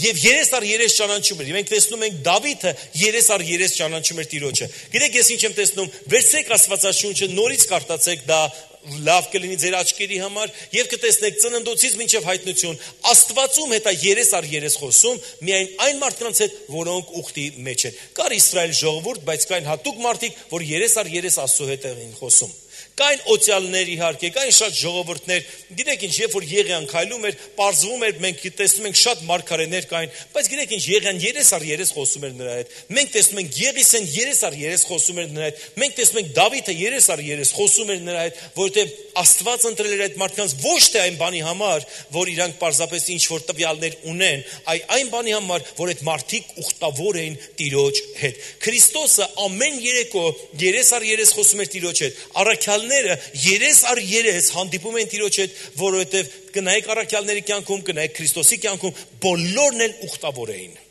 Եվ երես առ երես ճանաչում էր։ Մենք տեսնում ենք Դավիթը երես առ երես ճանաչում էր Տիրոջը։ Գիտեք, ես ինչ եմ տեսնում, վերցրեք Աստվածաշունչը, նորից կարդացեք դա, լավ կլինի ձեր աչքերի համար եւ կտեսնեք ծննդոցից մինչեւ հայտնություն Աստվածում հետ է երես առ երես խոսում միայն այն մարդկանց հետ, որոնք ուխտի մեջ են։ Կար Իսրայել ժողովուրդ, բայց կային հատուկ մարդիկ, որ երես առ երես Աստծո հետ էին խոսում։ Կային օծյալներ իհարկե, կային շատ ժողովուրդներ, գիտեք ինչ, երբ որ Եղիան քայլում էր, պարզվում էր, մենք տեսնում ենք շատ մարգարեներ կային, բայց գիտեք ինչ, Եղիան երես առ երես խոսում էր նրա հետ։ Մենք տեսնում ենք Եղիսեն երես առ երես խոսում էր նրա հետ։ Մենք տեսնում ենք Դավիթը երես առ երես խոսում էր նրա հետ, որովհետև Աստված ընտրել էր այդ մարդկանց ոչ թե այն բանի համար, որ իրանք պարզապես ինչ որ տվյալներ ունեն, այլ այն բանի համար, որ այդ մարդիկ ուխտավոր էին Տիրոջ հետ։ Քրիստոսը ամեն երեկո երես առ երես խոսում էր Տիրոջ հետ։ Առաքյալները երես առ երես հանդիպում են Տիրոջ հետ, որովհետև կնայեք առաքյալների կյանքում, կնայեք Քրիստոսի կյանքում, բոլորն էլ ուխտավոր էին։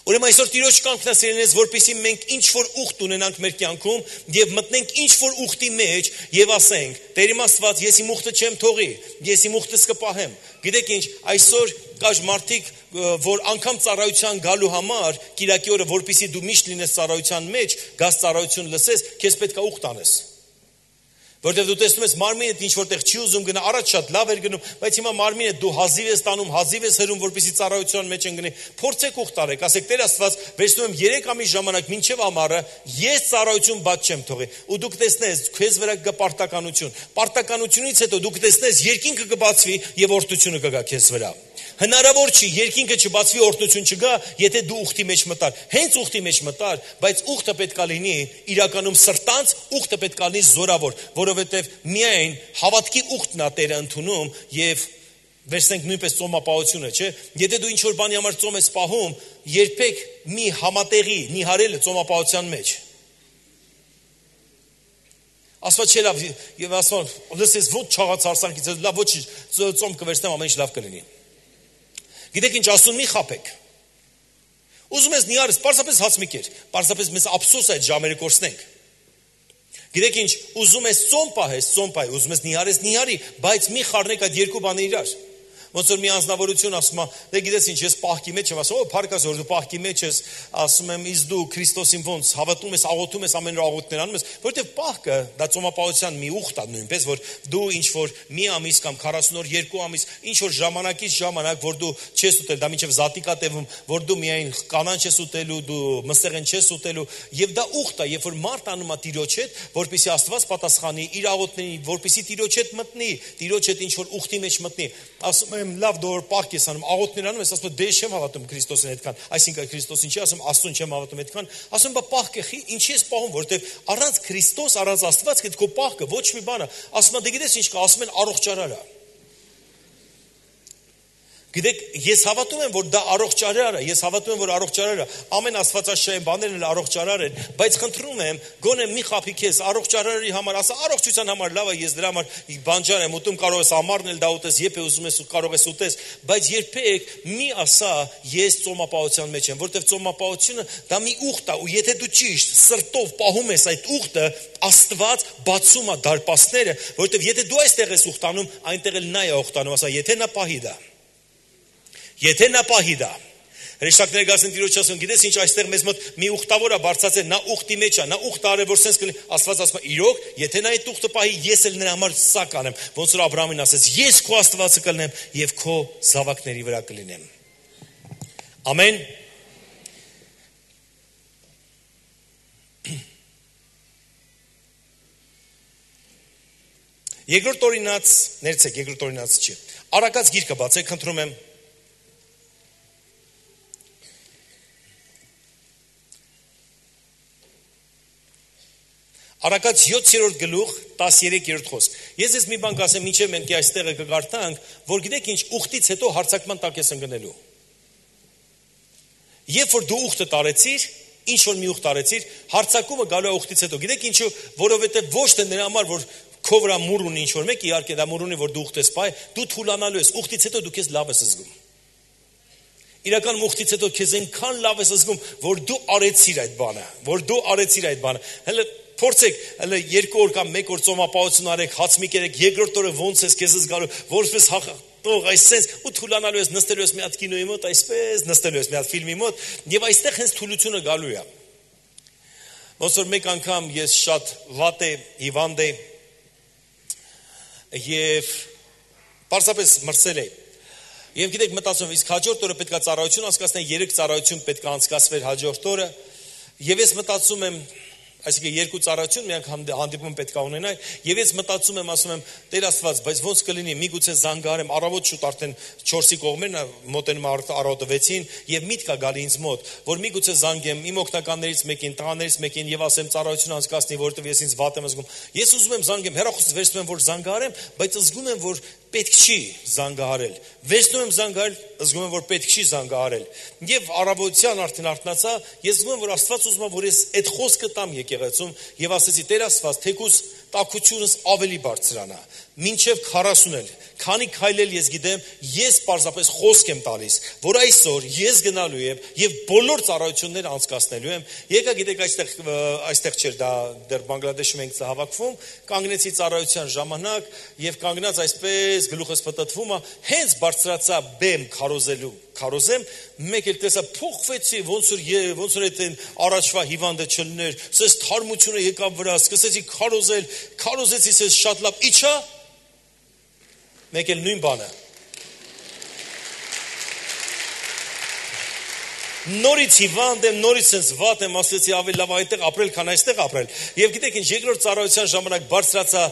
Ուրեմն այսօր Տիրոջ կամքն է սիրելիներս, որպեսզի մենք ինչ որ ուխտ ունենանք մեր կյանքում եւ մտնենք ինչ որ ուխտի մեջ եւ ասենք. Տեր իմ Աստված, ես իմ ուխտը չեմ թողի, ես իմ ուխտս կպահեմ։ Գիտեք ինչ, այսօր կար մարդիկ, որ անգամ ծառայության գալու համար, Կիրակի օրը, որպեսզի դու միշտ լինես ծառայության մեջ, գաս ծառայություն լսես, քեզ պետք է ուխտ անես։ Որտեղ դու տեսնում ես մարմինդ ինչ որտեղ չի ուզում գնա, առաջ շատ լավ էր գնում, բայց հիմա մարմինդ դու հազիվ ես տանում, հազիվ ես հրում, որպեսզի ծառայության մեջ ընկնի։ Փորձեք ուխտ արեք, ասեք Տեր Աստված, վերցնում եմ երեք ամիս ժամանակ մինչև ամառը, ես ծառայություն բաց չեմ թողի։ Ու դու կտեսնես քեզ վրա կգա պարտականություն։ Պարտականությունից հետո դու կտեսնես երկինքը կբացվի եւ օրհնությունը կգա քեզ վրա։ Հնարավոր չի երկինքը չբացվի, օրհնություն չգա, եթե դու ուխտի մեջ մտար։ Հենց ուխտի մեջ մտար, բայց ուխտը պետք է լինի իրականում սրտանց, ուխտը պետք է լինի զորավոր, որովհետև միայն հավատքի ուխտն է Տերը ընդունում եւ վերցնենք նույնպես ծոմապահությունը, չէ՞։ Եթե դու ինչ որ բանի համար ծոմ ես պահում, երբեք մի համատեղի նիհարել ծոմապահության մեջ։ Աստված չէ լավ եւ ասում, լսես ոչ չաղացարսանքից, լավ ոչ ծոմ կվերցնեմ, ամեն ինչ լավ կլինի։ Գիտեք ինչ ասում մի խափեք։ Ուզում ես նիարս, պարզապես հաց մի կեր, պարզապես մեզ ափսոս այդ ժամերը կորցնենք։ Գիտեք ինչ, ուզում ես ծոմ պահես, ծոմ պահի, ուզում ես նիարես, նիարի, բայց մի խառնեք այդ երկու բանը իրար։ Ոնց որ մի անձնավորություն ասում է, դե գիտես ինչ, ես պահքի մեջ եմ, ասում, օ, փառքաս որ դու պահքի մեջ ես, ասում եմ, իսկ դու Քրիստոսին ոնց հավատում ես, աղոթում ես, ամեն օր աղոթքներ անում ես, որովհետև պահքը դա ծոմապահության մի ուխտ է նույնպես, որ դու ինչ որ մի ամիս կամ քառասուն օր, երկու ամիս, ինչ որ ժամանակից ժամանակ, որ դու չես ուտել, դա մինչև զատիկա տևում, որ դու միայն կանանչ ես ուտելու, դու մսեղեն չես ուտելու, եւ դա ուխտ է, երբ որ մարդ անում է Տիրոջ հետ, որպեսզի Աստված պատասխանի իր աղոթքներին, որպեսզի Տիրոջ հետ մտնի, Տիրոջ հետ ինչ որ ուխտի մեջ մտնի, ասում եմ լավ դոր պահք ես անում, աղոթքներ անում ես, ասում դե չեմ հավատում Քրիստոսին այդքան, այսինքն Քրիստոսին չի ասում, Աստծուն չեմ հավատում այդքան, ասում բա պահքը ինչի ես պահում, որովհետև առանց Քրիստոս, առանց Աստված քո պահքը ոչ մի բան է, ասում դե գիտես ինչ կա, ասում են առողջարար է։ Գիտեք, ես հավատում եմ, որ դա առողջարար է, ես հավատում եմ, որ առողջարար է, ամեն աստվածաշային բաներն էլ առողջարար են, բայց խնդրում եմ, գոնե մի խափի քեզ առողջարարի համար, ասա առողջության համար լավ է, ես դրա համար բանջար եմ ուտում, կարող ես ամառն էլ դա ուտես, երբ ուզում ես կարող ես ուտես, բայց երբեք մի ասա ես ծոմապահության մեջ եմ, որովհետև ծոմապահությունը դա մի ուխտ է, ու եթե դու ճիշտ սրտով պահում ես այդ ուխտը, Աստված բացում է դարպասները, որովհետև եթե դու այստեղ ես ուխտանում, այնտեղ էլ նա է ուխտանում, ասա եթե նա պահի դա Եթե նա պահի դա, հրեշտակները գասեն Տիրոջ ասում, գիտես ինչ այստեղ մեզ մոտ մի ուխտավոր է բարձրացել, նա ուխտի մեջ է, նա ուխտ արել, որ սենց կլինի, Աստված ասում է, իրոք, եթե նա այդ ուխտը պահի, ես էլ նրա համար սա կանեմ, ոնց որ Աբրահամին ասեց, ես քո Աստվածը կլինեմ եւ քո զավակների վրա կլինեմ։ Ամեն։ Երկրորդ օրինաց, ներեցեք, երկրորդ օրինաց չի։ Արակած գիրքը բացեք, խնդրում եմ։ Արակած յոթերորդ գլուխ տասներորդ խոսք։ Ես ես մի բան կասեմ, ինչեւ մենք այստեղը կգարտանք, որ գիտեք ինչ, ուխտից հետո հարցակման տակ ես ընկնելու։ Երբ որ դու ուխտը տարեցիր, ինչ որ մի ուխտ տարեցիր, հարցակումը գալու է ուխտից հետո։ Գիտեք ինչու, որովհետեւ ոչ թե նրա համար, որ քո վրա մուր ունի ինչ որ մեկ, իհարկե դա մուր ունի, որ դու ուխտ ես պահ, դու թուլանալու ես, ուխտից հետո դու քեզ լավ ես զգում։ Իրական ուխտից հետո քեզ այնքան լավ ես զգում, որ դու արեցիր այդ բանը, որ դու արեցիր այդ բանը։ Հələ փորձեք, հələ երկու օր կամ մեկ օր ծոմապահություն արեք, հաց մի կերեք, երկրորդ օրը ոնց ես քեզ զգալու, որպես հաղթող այսպես ու թուլանալու ես, նստելու ես մի հատ կինոյի մոտ, այսպես նստելու ես մի հատ ֆիլմի մոտ, եւ այստեղ հենց թուլությունը գալու է։ Ոնց որ մեկ անգամ ես շատ վատ է, հիվանդ է եւ պարզապես մրսել էի։ Եվ գիտեք մտածում, իսկ հաջորդ օրը պետք է ծառայություն անցկացնել, երեք ծառայություն պետք է անցկացվեր հաջորդ օրը, եւ ես մտածում եմ Այսինքն երկու ծառայություն միանգ հանդիպում պետք է ունենա եւ ես մտածում եմ ասում եմ Տեր Աստված բայց ոնց կլինի միգուցե զանգարեմ առավոտ շուտ արդեն չորսի կողմերն մոտենում առավոտը վեցին եւ միտք է գալի ինձ մոտ որ միգուցե զանգեմ իմ օգնականներից մեկին տղաներից մեկին եւ ասեմ ծառայություն անցկացնի որովհետեւ ես ինձ վատ եմ զգում ես ուզում եմ զանգեմ հեռախոսից վերցնում եմ որ զանգարեմ բայց զգում եմ որ պետք չի զանգահարել վերցնում եմ զանգահարել զգում եմ որ պետք չի զանգահարել եւ առավոտյան արդեն արթնացա ես զգում եմ որ Աստված ուզում է որ ես այդ խոսքը տամ եկեղեցում եւ ասեցի Տեր Աստված թեկուզ տակությունս ավելի բարձրանա մինչեւ քառասուն էլ քանի քայլել ես գիտեմ ես պարզապես խոսք եմ տալիս որ այսօր ես գնալու եմ եւ բոլոր ծառայությունները անցկացնելու եմ եկա գիտեք այստեղ այստեղ չէր դա դեռ Բանգլադեշում ենք հավաքվում կանգնեցի ծառայության ժամանակ եւ կանգնած այսպես գլուխս պտտվում է հենց բարձրացա բեմ քարոզելու քարոզեմ մեկ էլ տեսա փոխվեցի ոնց որ ոնց որ այդ առաջվա հիվանդը չլներ սես թարմությունը եկավ վրա սկսեցի քարոզել քարոզեցի սես շատ լավ իջա մեկ էլ նույն բանը նորից հիվանդ եմ նորից sense վատ եմ ասեցի ավելի լավ այդտեղ ապրել քան այստեղ ապրել եւ գիտեք ինչ երկրորդ ծառայության ժամանակ բարձրացա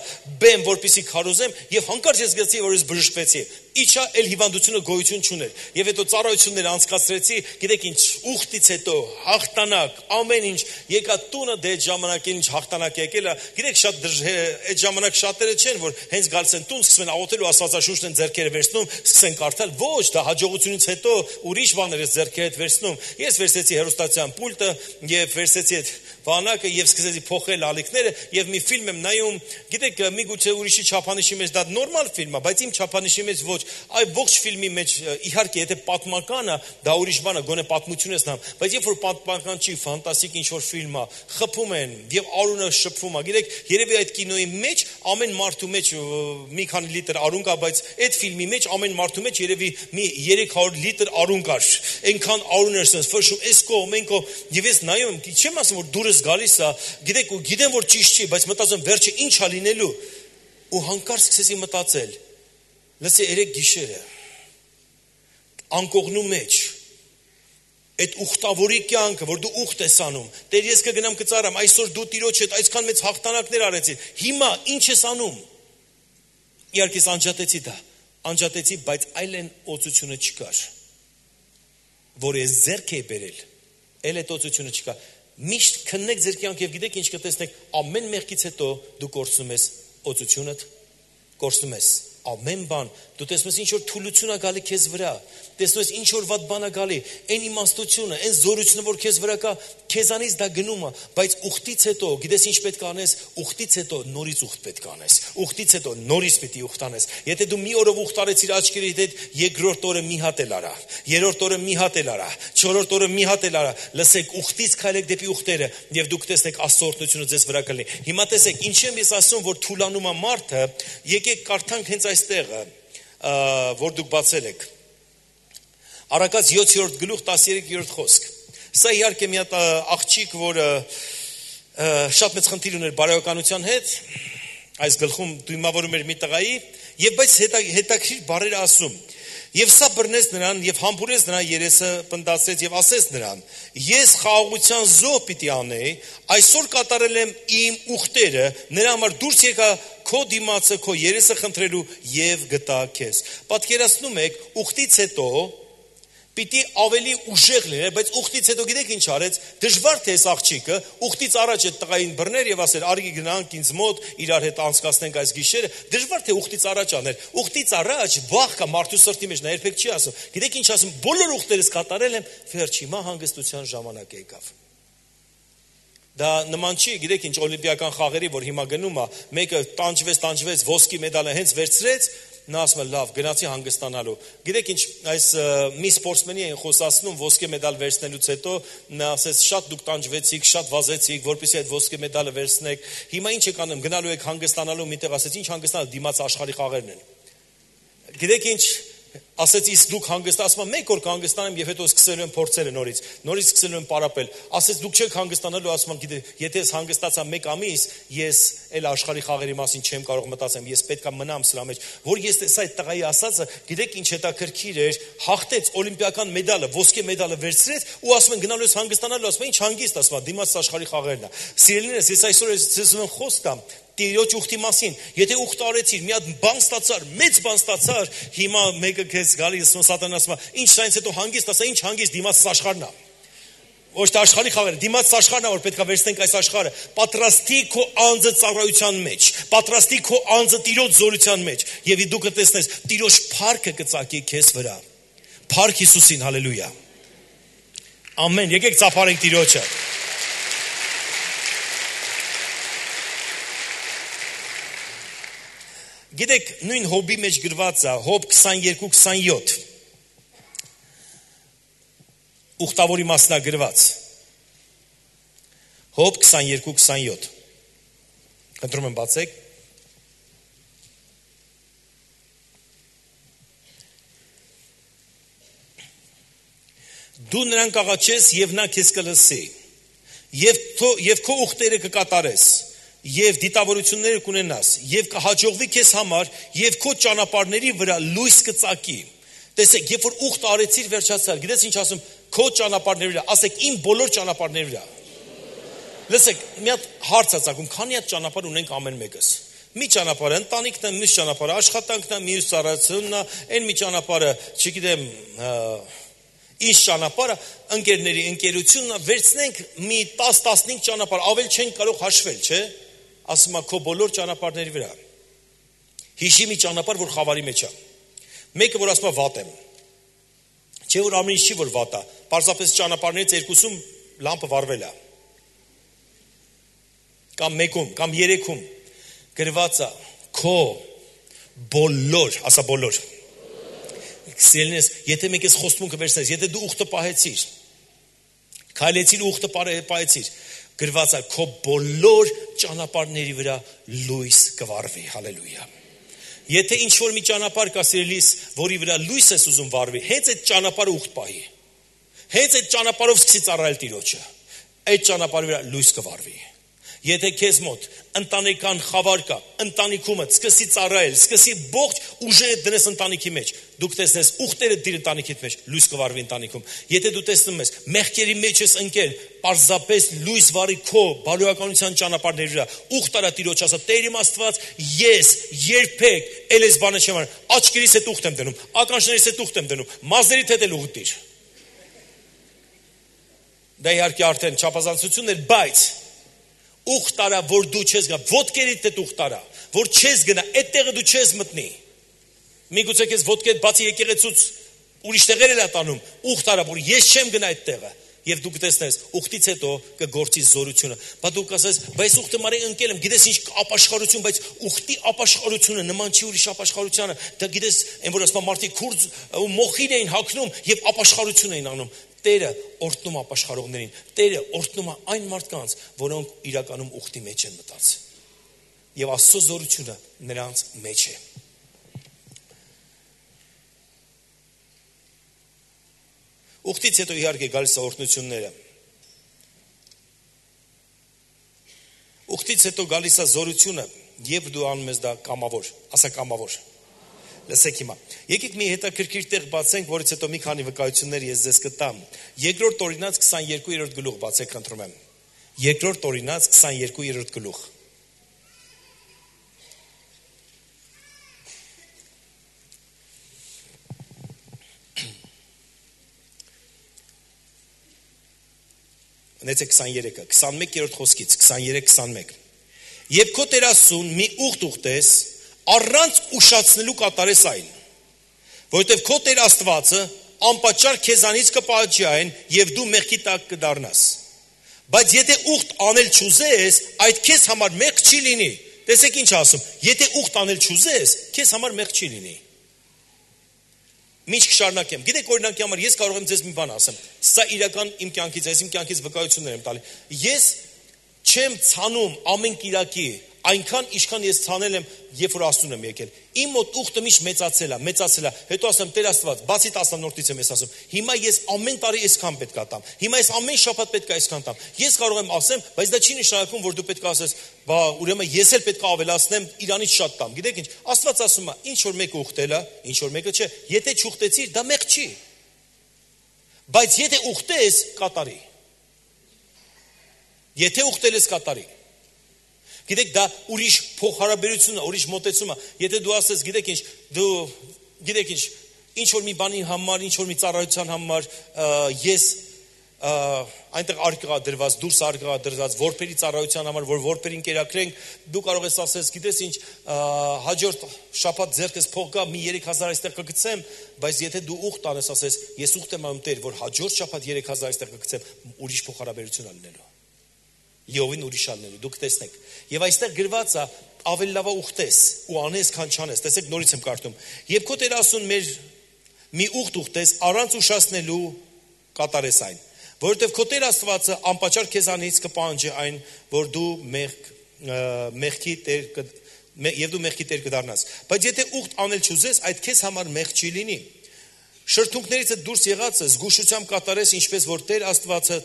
բեմ որպեսի քարոզեմ եւ հանկարծ ես գտեցի որ ես բժշկվեցի իջա էլ հիվանդությունը գոյություն չուներ եւ հետո ծառայությունները անցկացրեցի գիտեք ինչ ուխտից հետո հաղթանակ ամեն ինչ եկա տունը դե այդ ժամանակին ինչ հաղթանակ եկել է գիտեք շատ այդ ժամանակ շատերը չեն որ հենց գալիս են տուն սկսում են աղոթելու աստվածաշունչն են ձեռքերը վերցնում սկսեն կարդալ ոչ դա հաջողությունից հետո ուրիշ բաներ ես ձեռքերը հետ վերցնում ես վերցեցի հեռուստացան պուլտը եւ վերցեցի այդ բանակը եւ սկսեցի փոխել ալիքները եւ մի ֆիլմ եմ նայում գիտեք միգուցե ուրիշի չափանիշի մեջ դա նորմալ ֆիլմ է բայց իմ չափանիշի մեջ ոչ այ ողջ ֆիլմի մեջ իհարկե եթե պատմական է դա ուրիշ բան է գոնե պատմություն ես նամ բայց երբ որ պատմական չի ֆանտաստիկ ինչ որ ֆիլմ է խփում են եւ արունը շփվում է գիտեք երևի այդ կինոյի մեջ ամեն մարդու մեջ մի քանի լիտր արուն կա բայց այդ ֆիլմի մեջ ամեն մարդու մեջ երևի մի երեք հարյուր լիտր արուն կար այնքան արուն էր sense ֆշում էս կողմ այն կողմ եւ ես նայում եմ չեմ ասում որ դուրս գալիս է գիտեք ու գիտեմ որ ճիշտ չի բայց մտածում վերջը ինչ է լինելու ու հանկարծ սկսեցի մտածել լսի երեք գիշերը անկողնու մեջ այդ ուխտավորի կյանքը որ դու ուխտ ես անում Տեր ես կգնամ կծարամ այսօր դու տիրոջ հետ այսքան մեծ հաղթանակներ արեցի հիմա ինչ ես անում իհարկե անջատեցի դա անջատեցի բայց այլեն օծությունը չկար որ ես ձեռք էի բերել էլ այդ օծությունը չկա միշտ քննեք ձեր կյանք եւ գիտեք ինչ կտեսնեք ամեն մեղքից հետո դու կորցնում ես օծությունդ կորցնում ես ամեն բան դու տեսնում ես ինչ որ թուլություն է գալի քեզ վրա տեսնում ես ինչ որ վատ բան է գալի այն իմաստությունը այն զորությունը որ քեզ վրա կա քեզանից դա գնում է բայց ուխտից հետո գիտես ինչ պետք է անես ուխտից հետո նորից ուխտ պետք է անես ուխտից հետո նորից պետք է ուխտ անես եթե դու մի օրով ուխտ արեցիր աչքերիդ հետ երկրորդ օրը մի հատ էլ արա երրորդ օրը մի հատ էլ արա չորրորդ օրը մի հատ էլ արա լսեք ուխտից քայլեք դեպի ուխտերը եւ դուք տեսնեք Աստծո օրհնությունը ձեզ վրա կլինի հիմա տեսեք ինչ եմ ես ասում որ թուլանում է մարդը եկեք կարդանք հենց այստեղը որ դուք բացել եք Առակաց յոթերորդ գլուխ տասներկերորդ խոսք սա իհարկե մի հատ աղջիկ որը շատ մեծ խնդիր ուներ բարոյականության հետ այս գլխում դիմավորում էր մի տղայի եւ բայց հետաքրիր բառերը ասում եւ սա բռնեց նրան եւ համբուրեց նրան երեսը պնդացրեց եւ ասեց նրան ես խաղաղության զոհ պիտի անեի այսօր կատարել եմ իմ ուխտերը նրա համար դուրս եկա քո դիմացը քո երեսը խնդրելու եւ գտա քեզ պատկերացնում եք ուխտից հետո Պիտի ավելի ուժեղ լիներ, բայց ուխտից հետո գիտեք ինչ արեց, դժվար թե այս աղջիկը ուխտից առաջ այդ տղային բռներ եւ ասեր արի գնանք ինձ մոտ իրար հետ անցկացնենք այս գիշերը, դժվար թե ուխտից առաջ աներ։ Ուխտից առաջ վախ կա մարդու սրտի մեջ, նա երբեք չի ասում։ Գիտեք ինչ ասում, բոլոր ուխտերս կատարել եմ, վերջ հիմա հանգստության ժամանակ եկավ։ Դա նման չի, գիտեք ինչ օլիմպիական խաղերի, որ հիմա գնում է, մեկը տանջվեց, տանջվեց, ոսկի մեդալը հենց վերցրեց, նա ասում է լավ, գնացի հանգստանալու։ Գիտեք ինչ, այս մի սպորտսմենի են խոսացնում ոսկե մեդալ վերցնելուց հետո, նա ասեց շատ դուք տանջվեցիք, շատ վազեցիք, որպեսզի այդ ոսկե մեդալը վերցնեք։ Հիմա ինչ եք անում, գնալու եք հանգստանալու, միտեղ ասեց ինչ հանգստանալ, դիմաց աշխարհի խաղերն են։ Գիտեք ինչ, Ասեց իսկ դուք հանգստացում եք, մեկ օր կհանգստանեմ եւ հետո սկսելու եմ փորձերը նորից։ Նորից սկսելու եմ պարապել։ Ասեց դուք չեք հանգստանալու, ասում եմ, գիտե, եթե ես հանգստացա մեկ ամիս, ես այլ աշխարհի խաղերի մասին չեմ կարող մտածեմ, ես պետք է մնամ սրա մեջ։ Որ ես տեսա այդ տղայի ասածը, գիտեք ինչ հետաքրքիր էր, հաղթեց օլիմպիական մեդալը, ոսկե մեդալը վերցրեց ու ասում են գնալու ես հանգստանալու, ասում են ինչ հանգիստ, ասում եմ, դիմաց աշխարհի խաղերն է։ Սիրելիներս, ես այսօր ես ուզում եմ խոստամ Տիրոջ ուխտի մասին, եթե ուխտ արեցիր, մի հատ բան ստացար, մեծ բան ստացար, հիմա մեկը քեզ գալիս ու սատանան ասում է, ինչ սրանից հետո հանգիստ, ասա, ինչ հանգիստ, դիմաց աշխարհն է։ Ոչ թե աշխարհի խաղերը, դիմաց աշխարհն է, որ պետք է վերցնենք այս աշխարհը, պատրաստի քո անձը ծառայության մեջ, պատրաստի քո անձը Տիրոջ զորության մեջ, եւ դու կտեսնես Տիրոջ փառքը կծակի քեզ վրա։ Փառք Հիսուսին, հալելույա։ Ամեն, եկեք ծափարենք Տիրոջը։ Գիտեք, նույն Հոբի մեջ գրված է, Հոբ քսաներկու քսանյոթ։ Ուխտավորի մասն է գրված։ Հոբ քսաներկու քսանյոթ։ Խնդրում եմ բացեք։ Դու նրան կաղաչես եւ նա քեզ կլսի։ Եվ եւ քո ուխտերը կկատարես։ Եվ դիտավորությունները կունենաս, եւ կհաջողվի քեզ համար, եւ քո ճանապարհների վրա լույս կծակի։ Տեսեք, երբ որ ուխտ արեցիր վերջացար, գիտես ինչ ասում, քո ճանապարհների վրա, ասեք իմ բոլոր ճանապարհների վրա։ Լսեք, մի հատ հարց է ցակում, քանի հատ ճանապարհ ունենք ամեն մեկս։ Մի ճանապարհը ընտանիքն է, մյուս ճանապարհը աշխատանքն է, մյուս ծառայությունն է, այն մի ճանապարհը, չգիտեմ, ինչ ճանապարհը, ընկերների ընկերությունն է, վերցնենք մի տասը տասնհինգ ճանապարհ, ավել չենք կարող հաշվել, չէ՞։ Ասում է քո բոլոր ճանապարհների վրա։ Հիշի մի ճանապարհ, որ խավարի մեջ է։ Մեկը որ ասում է վատ եմ։ Չէ որ ամեն ինչ չի որ վատ է։ Պարզապես ճանապարհներից երկուսում լամպը վառվել է։ Կամ մեկում, կամ երեքում գրված է քո բոլոր, ասա բոլոր։ Սիրելիներս, եթե մեկ ես խոստմունքը վերցնես, եթե դու ուխտը պահեցիր, քայլեցիր ուխտը պահեցիր, գրված է քո բոլոր ճանապարհների վրա լույս կվառվի, հալելույա։ Եթե ինչ որ մի ճանապարհ կա սիրելիս, որի վրա լույս ես ուզում վառվի, հենց այդ ճանապարհը ուխտ պահի։ Հենց այդ ճանապարհով սկսի ծառայել Տիրոջը։ Այդ ճանապարհի վրա լույս կվառվի։ Եթե քեզ մոտ ընտանեկան խավար կա, ընտանիքումդ սկսի ծառայել, սկսի ողջ ուժերը դնես ընտանիքի մեջ, դուք տեսնես ուխտերը դիր ընտանիքիդ մեջ, լույս կվառվի ընտանիքում։ Եթե դու տեսնում ես մեղքերի մեջ ես ընկել, պարզապես լույս վառի քո բարոյականության ճանապարհների վրա, ուխտ արա Տիրոջ, ասա Տեր իմ Աստված, ես երբեք էլ այս բանը չեմ անում, աչքերիս հետ ուխտ եմ դնում, ականջներիս հետ ուխտ եմ դնում, մազերիդ հետ էլ ուխտ դիր։ Դա իհարկե արդեն չափազանցություն էր, բայց ուխտ արա, որ դու չես գնա, ոտքերիդ հետ ուխտ արա, որ չես գնա, այդ տեղը դու չես մտնի։ Միգուցե քեզ ոտքերդ բացի եկեղեցուց ուրիշ տեղեր էլ ատանում, ուխտ արա, որ ես չեմ գնա այդ տեղը, եւ դու կտեսնես, ուխտից հետո կգործի զորությունը։ Բա դու կասես, բայց ուխտը մարի ընկել եմ, գիտես ինչ ապաշխարություն, բայց ուխտի ապաշխարությունը նման չի ուրիշ ապաշխարությանը։ Դա գիտես, այն որ ասում մարդիկ քուրձ ու մոխին էին հագնում եւ ապաշխարություն էին անում։ Տերը օրհնում ապաշխարողներին, Տերը օրհնում այն մարդկանց, որոնք իրականում ուխտի մեջ են մտած։ Եվ Աստծո զորությունը նրանց մեջ է։ Ուխտից հետո իհարկե գալիս է օրհնությունները։ Ուխտից հետո գալիս է զորությունը, եւ դու անում ես դա կամավոր, ասա կամավոր։ Լսեք հիմա։ Եկեք մի հետաքրքիր տեղ բացենք, որից հետո մի քանի վկայություններ ես ձեզ կտամ։ Երկրորդ Օրինաց քսաներկու-րդ գլուխ բացեք, խնդրում եմ։ Երկրորդ Օրինաց քսաներկու-րդ գլուխ։ Նեցեք քսաներեքը, քսանմեկերորդ խոսքից, քսաներեք քսանմեկ։ Եվ քո Տեր Աստծուն մի ուխտ ուխտես, առանց ուշացնելու կատարես այն, որովհետև քո Տեր Աստվածը անպատճառ քեզանից կպահանջի այն, եւ դու մեղքի տակ կդառնաս։ Բայց եթե ուխտ անել չուզես, այդ քեզ համար մեղք չի լինի։ Տեսեք ինչ ասում, եթե ուխտ անել չուզես, քեզ համար մեղք չի լինի։ Ինչ կշարունակեմ։ Գիտեք օրինակի համար ես կարող եմ ձեզ մի բան ասեմ։ Սա իրական իմ կյանքից, ես իմ կյանքից վկայություններ եմ տալի։ Ես չեմ ցանում ամեն կիրակի Այնքան ինչքան ես ցանել եմ, երբ որ Աստծուն եմ եկել։ Իմ մոտ ուխտը միշտ մեծացել է, մեծացել է։ Հետո ասեմ Տեր Աստված, բացի տասնորդից եմ ես ասում։ Հիմա ես ամեն տարի այսքան պետք է տամ։ Հիմա ես ամեն շաբաթ պետք է այսքան տամ։ Ես կարող եմ ասեմ, բայց դա չի նշանակում, որ դու պետք է ասես, բա ուրեմն ես էլ պետք է ավելացնեմ, իրանից շատ տամ։ Գիտեք ինչ, Աստված ասում է, ինչ որ մեկը ուխտել է, ինչ որ մեկը չէ։ Եթե չուխտեցիր, դա մեղք չի։ Բայց եթե ուխտես, կատարի։ Եթե ուխտել ես, կատարի։ Գիտեք, դա ուրիշ փոխհարաբերություն է, ուրիշ մոտեցում է։ Եթե դու ասես, գիտեք ինչ, դու գիտեք ինչ, ինչ որ մի բանի համար, ինչ որ մի ծառայության համար, ես այնտեղ արկղա դրված, դուրս արկղա դրված, որբերի ծառայության համար, որ որբերին կերակրենք, դու կարող ես ասես, գիտես ինչ, հաջորդ շաբաթ ձեռքս փող գա, մի երեք հազար այստեղ կգցեմ, բայց եթե դու ուխտ անես, ասես, ես ուխտ եմ անում Տեր, որ հաջորդ շաբաթ երեք հազար այստեղ կգցեմ, ուրիշ փոխհարաբերություն ալնելու։ Լիովին ուրիշ ալնելու, դուք տեսնեք։ Եվ այստեղ գրված է ավելի լավ է ուխտես ու անես, քան չանես։ Տեսեք, նորից եմ կարդում։ Եվ քո Տեր ասուն մեր մի ուխտ ուխտես, առանց ուշացնելու կատարես այն, որովհետև քո Տեր Աստվածը անպատճառ քեզանից կպահանջի այն, որ դու մեղք մեղքի Տեր եւ դու մեղքի Տեր կդառնաս։ Բայց եթե ուխտ անել չուզես, այդ քեզ համար մեղք չի լինի։ Շրթունքներից դուրս եղածը զգուշությամբ կատարես, ինչպես որ Տեր Աստվածը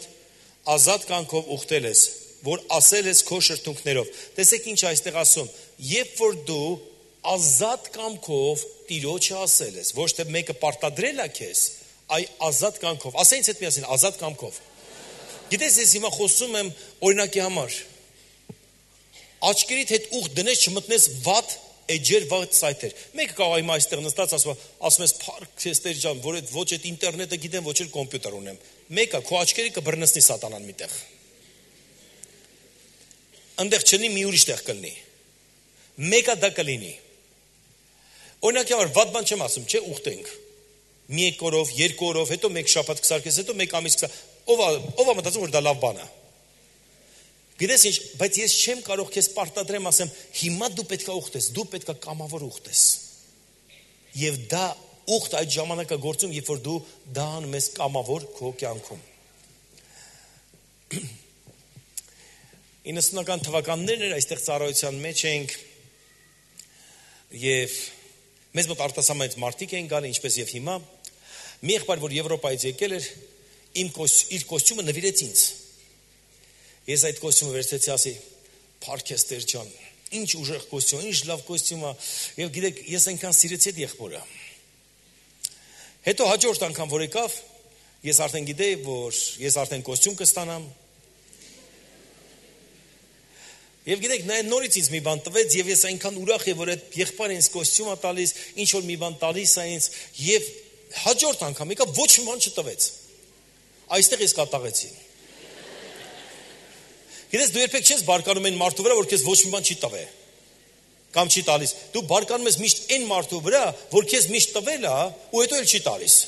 ազատ կյանքով ուխտել ես, որ ասել ես քո շրթունքներով։ Տեսեք ինչ այստեղ ասում, երբ որ դու ազատ կամքով Տիրոջը ասել ես, ոչ թե մեկը պարտադրել է քեզ, այ ազատ կամքով։ Ասենք այդ միասին, ազատ կամքով։ Գիտես, ես հիմա խոսում եմ օրինակի համար։ Աչքերիդ հետ ուխտ դնես, չմտնես վատ էջեր, վատ սայթեր։ Մեկը կարող է հիմա այստեղ նստած ասում, ասում ես փառք քեզ Տեր ջան, որ այդ ոչ այդ ինտերնետը գիտեմ, ոչ էլ կոմպյուտեր ունեմ։ Մեկը քո աչքերի կբռնցնի սատանան միտեղ։ Այնտեղ չնի մի ուրիշ տեղ կլինի։ Մեկը դա կլինի։ Օրինակի համար վատ բան չեմ ասում, չէ, ուխտենք։ Մի օրով, երկու օրով, հետո մեկ շաբաթ կսարկես, հետո մեկ ամիս կսա։ Ով ով մտածում որ դա լավ բան է։ Գիտես ինչ, բայց ես չեմ կարող քեզ պարտադրեմ, ասեմ, հիմա դու պետք է ուխտես, դու պետք է կամավոր ուխտես։ Եվ դա ուխտ այդ ժամանակը գործում, երբ որ դու դա անում ես կամավոր քո կյանքում։ իննսունական թվականներն էր այստեղ ծառայության մեջ ենք եւ մեզ մոտ արտասահմանից մարդիկ էին գալի, ինչպես եւ հիմա։ Մի եղբայր, որ Եվրոպայից եկել էր, իմ իր կոստյումը նվիրեց ինձ։ Ես այդ կոստյումը վերցրեցի, ասի, փառք ես Տեր ջան, ինչ ուժեղ կոստյում, ինչ լավ կոստյում է, եւ գիտեք, ես այնքան սիրեցի այդ եղբորը։ Հետո հաջորդ անգամ որ եկավ, ես արդեն գիտեի, որ ես արդեն կոստյում կստանամ։ Եվ գիտեք, նա նորից ինձ մի բան տվեց, եւ ես այնքան ուրախ եմ, որ այդ եղբայրը ինձ կոստյում է տալիս, ինչ որ մի բան տալիս է ինձ, եւ հաջորդ անգամ եկավ, ոչ մի բան չտվեց։ Այստեղ ես կատաղեցի։ Գիտես, դու երբեք չես բարկանում այն մարդու վրա, որ քեզ ոչ մի բան չի տվել։ Կամ չի տալիս։ Դու բարկանում ես միշտ այն մարդու վրա, որ քեզ միշտ տվել է, ու հետո էլ չի տալիս։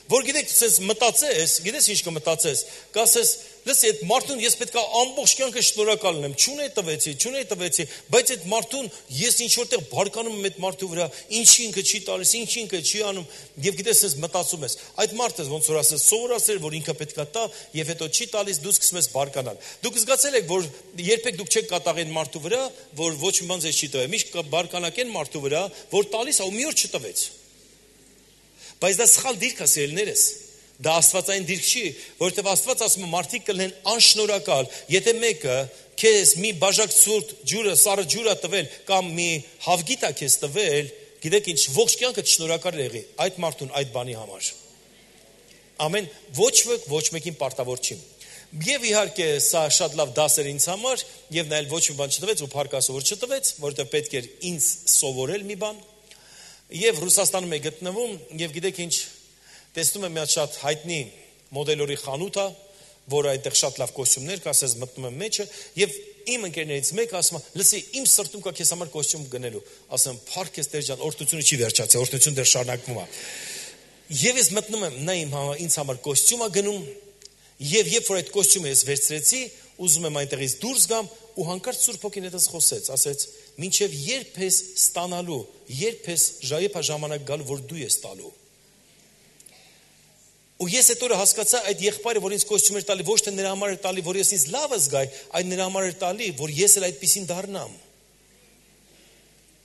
Որ գիտեք, ցես մտածես, գիտես ինչ կմտածես, կասես, լսի, այդ մարդուն ես պետք է ամբողջ կյանքը շնորհակալ լինեմ, չունե տվեցի, չունե տվեցի, բայց այդ մարդուն ես ինչ որտեղ բարկանում եմ այդ մարդու վրա, ինչի ինքը չի տալիս, ինչի ինքը չի անում, եւ գիտես, ես մտածում ես, այդ մարդը ոնց որ ասես, սովորացել, որ ինքը պետք է տա, եւ հետո չի տալիս, դու սկսում ես բարկանալ։ Դուք զգացել եք, որ երբեք դուք չեք կատաղեն մարդու վրա, որ ոչ մի բան ձեզ չի տվել, միշտ բարկանակ են մարդու վրա, որ տալիս է ու մի օր չտվեց։ Բայց դա սխալ դիրք է, սիրելիներս։ Դա աստվածային դիրք չի, որովհետև Աստված ասում է մարդիկ կլինեն անշնորհակալ, եթե մեկը քեզ մի բաժակ ցուրտ ջուրը, սառը ջուր է տվել կամ մի հավգիտ է քեզ տվել, գիտեք ինչ, ողջ կյանքդ շնորհակալ եղի այդ մարդուն այդ բանի համար։ Ամեն ոչ ոք ոչ մեկին պարտավոր չի։ Եվ իհարկե սա շատ լավ դաս էր ինձ համար, եւ նայել ոչ մի բան չտվեց ու փառք Աստծո որ չտվեց, որովհետև պետք էր ինձ սովորել մի բան։ Եվ Ռուսաստանում է գտնվում, եւ գիտեք ինչ, տեսնում եմ մի հատ շատ հայտնի մոդելորի խանութ է, որը այնտեղ շատ լավ կոստյումներ կա, ասես մտնում եմ մեջը, եւ իմ ընկերներից մեկը ասում է, լսի, իմ սրտում կա քեզ համար կոստյում գնելու։ Ասեմ, փառք ես Տեր ջան, օրհնությունը չի վերջացել, օրհնությունը դեռ շարունակվում է։ Եվ ես մտնում եմ, նա իմ ինձ համար կոստյում է գնում, եւ երբ որ այդ կոստյումը ես վերցրեցի, ուզում եմ այնտեղից դուրս գամ, ու հանկարծ Սուրբ Հոգին հետս խոսեց, ասեց, մինչև երբ ես ստանալու, երբ ես ժայեպա ժամանակ գալու, որ դու ես տալու։ Ու ես այդ օրը հասկացա այդ եղբայրը, որ ինձ կոստյում էր տալի, ոչ թե նրա համար էր տալի, որ ես ինձ լավը զգայի, այլ նրա համար էր տալի, որ ես էլ այդպեսին դառնամ։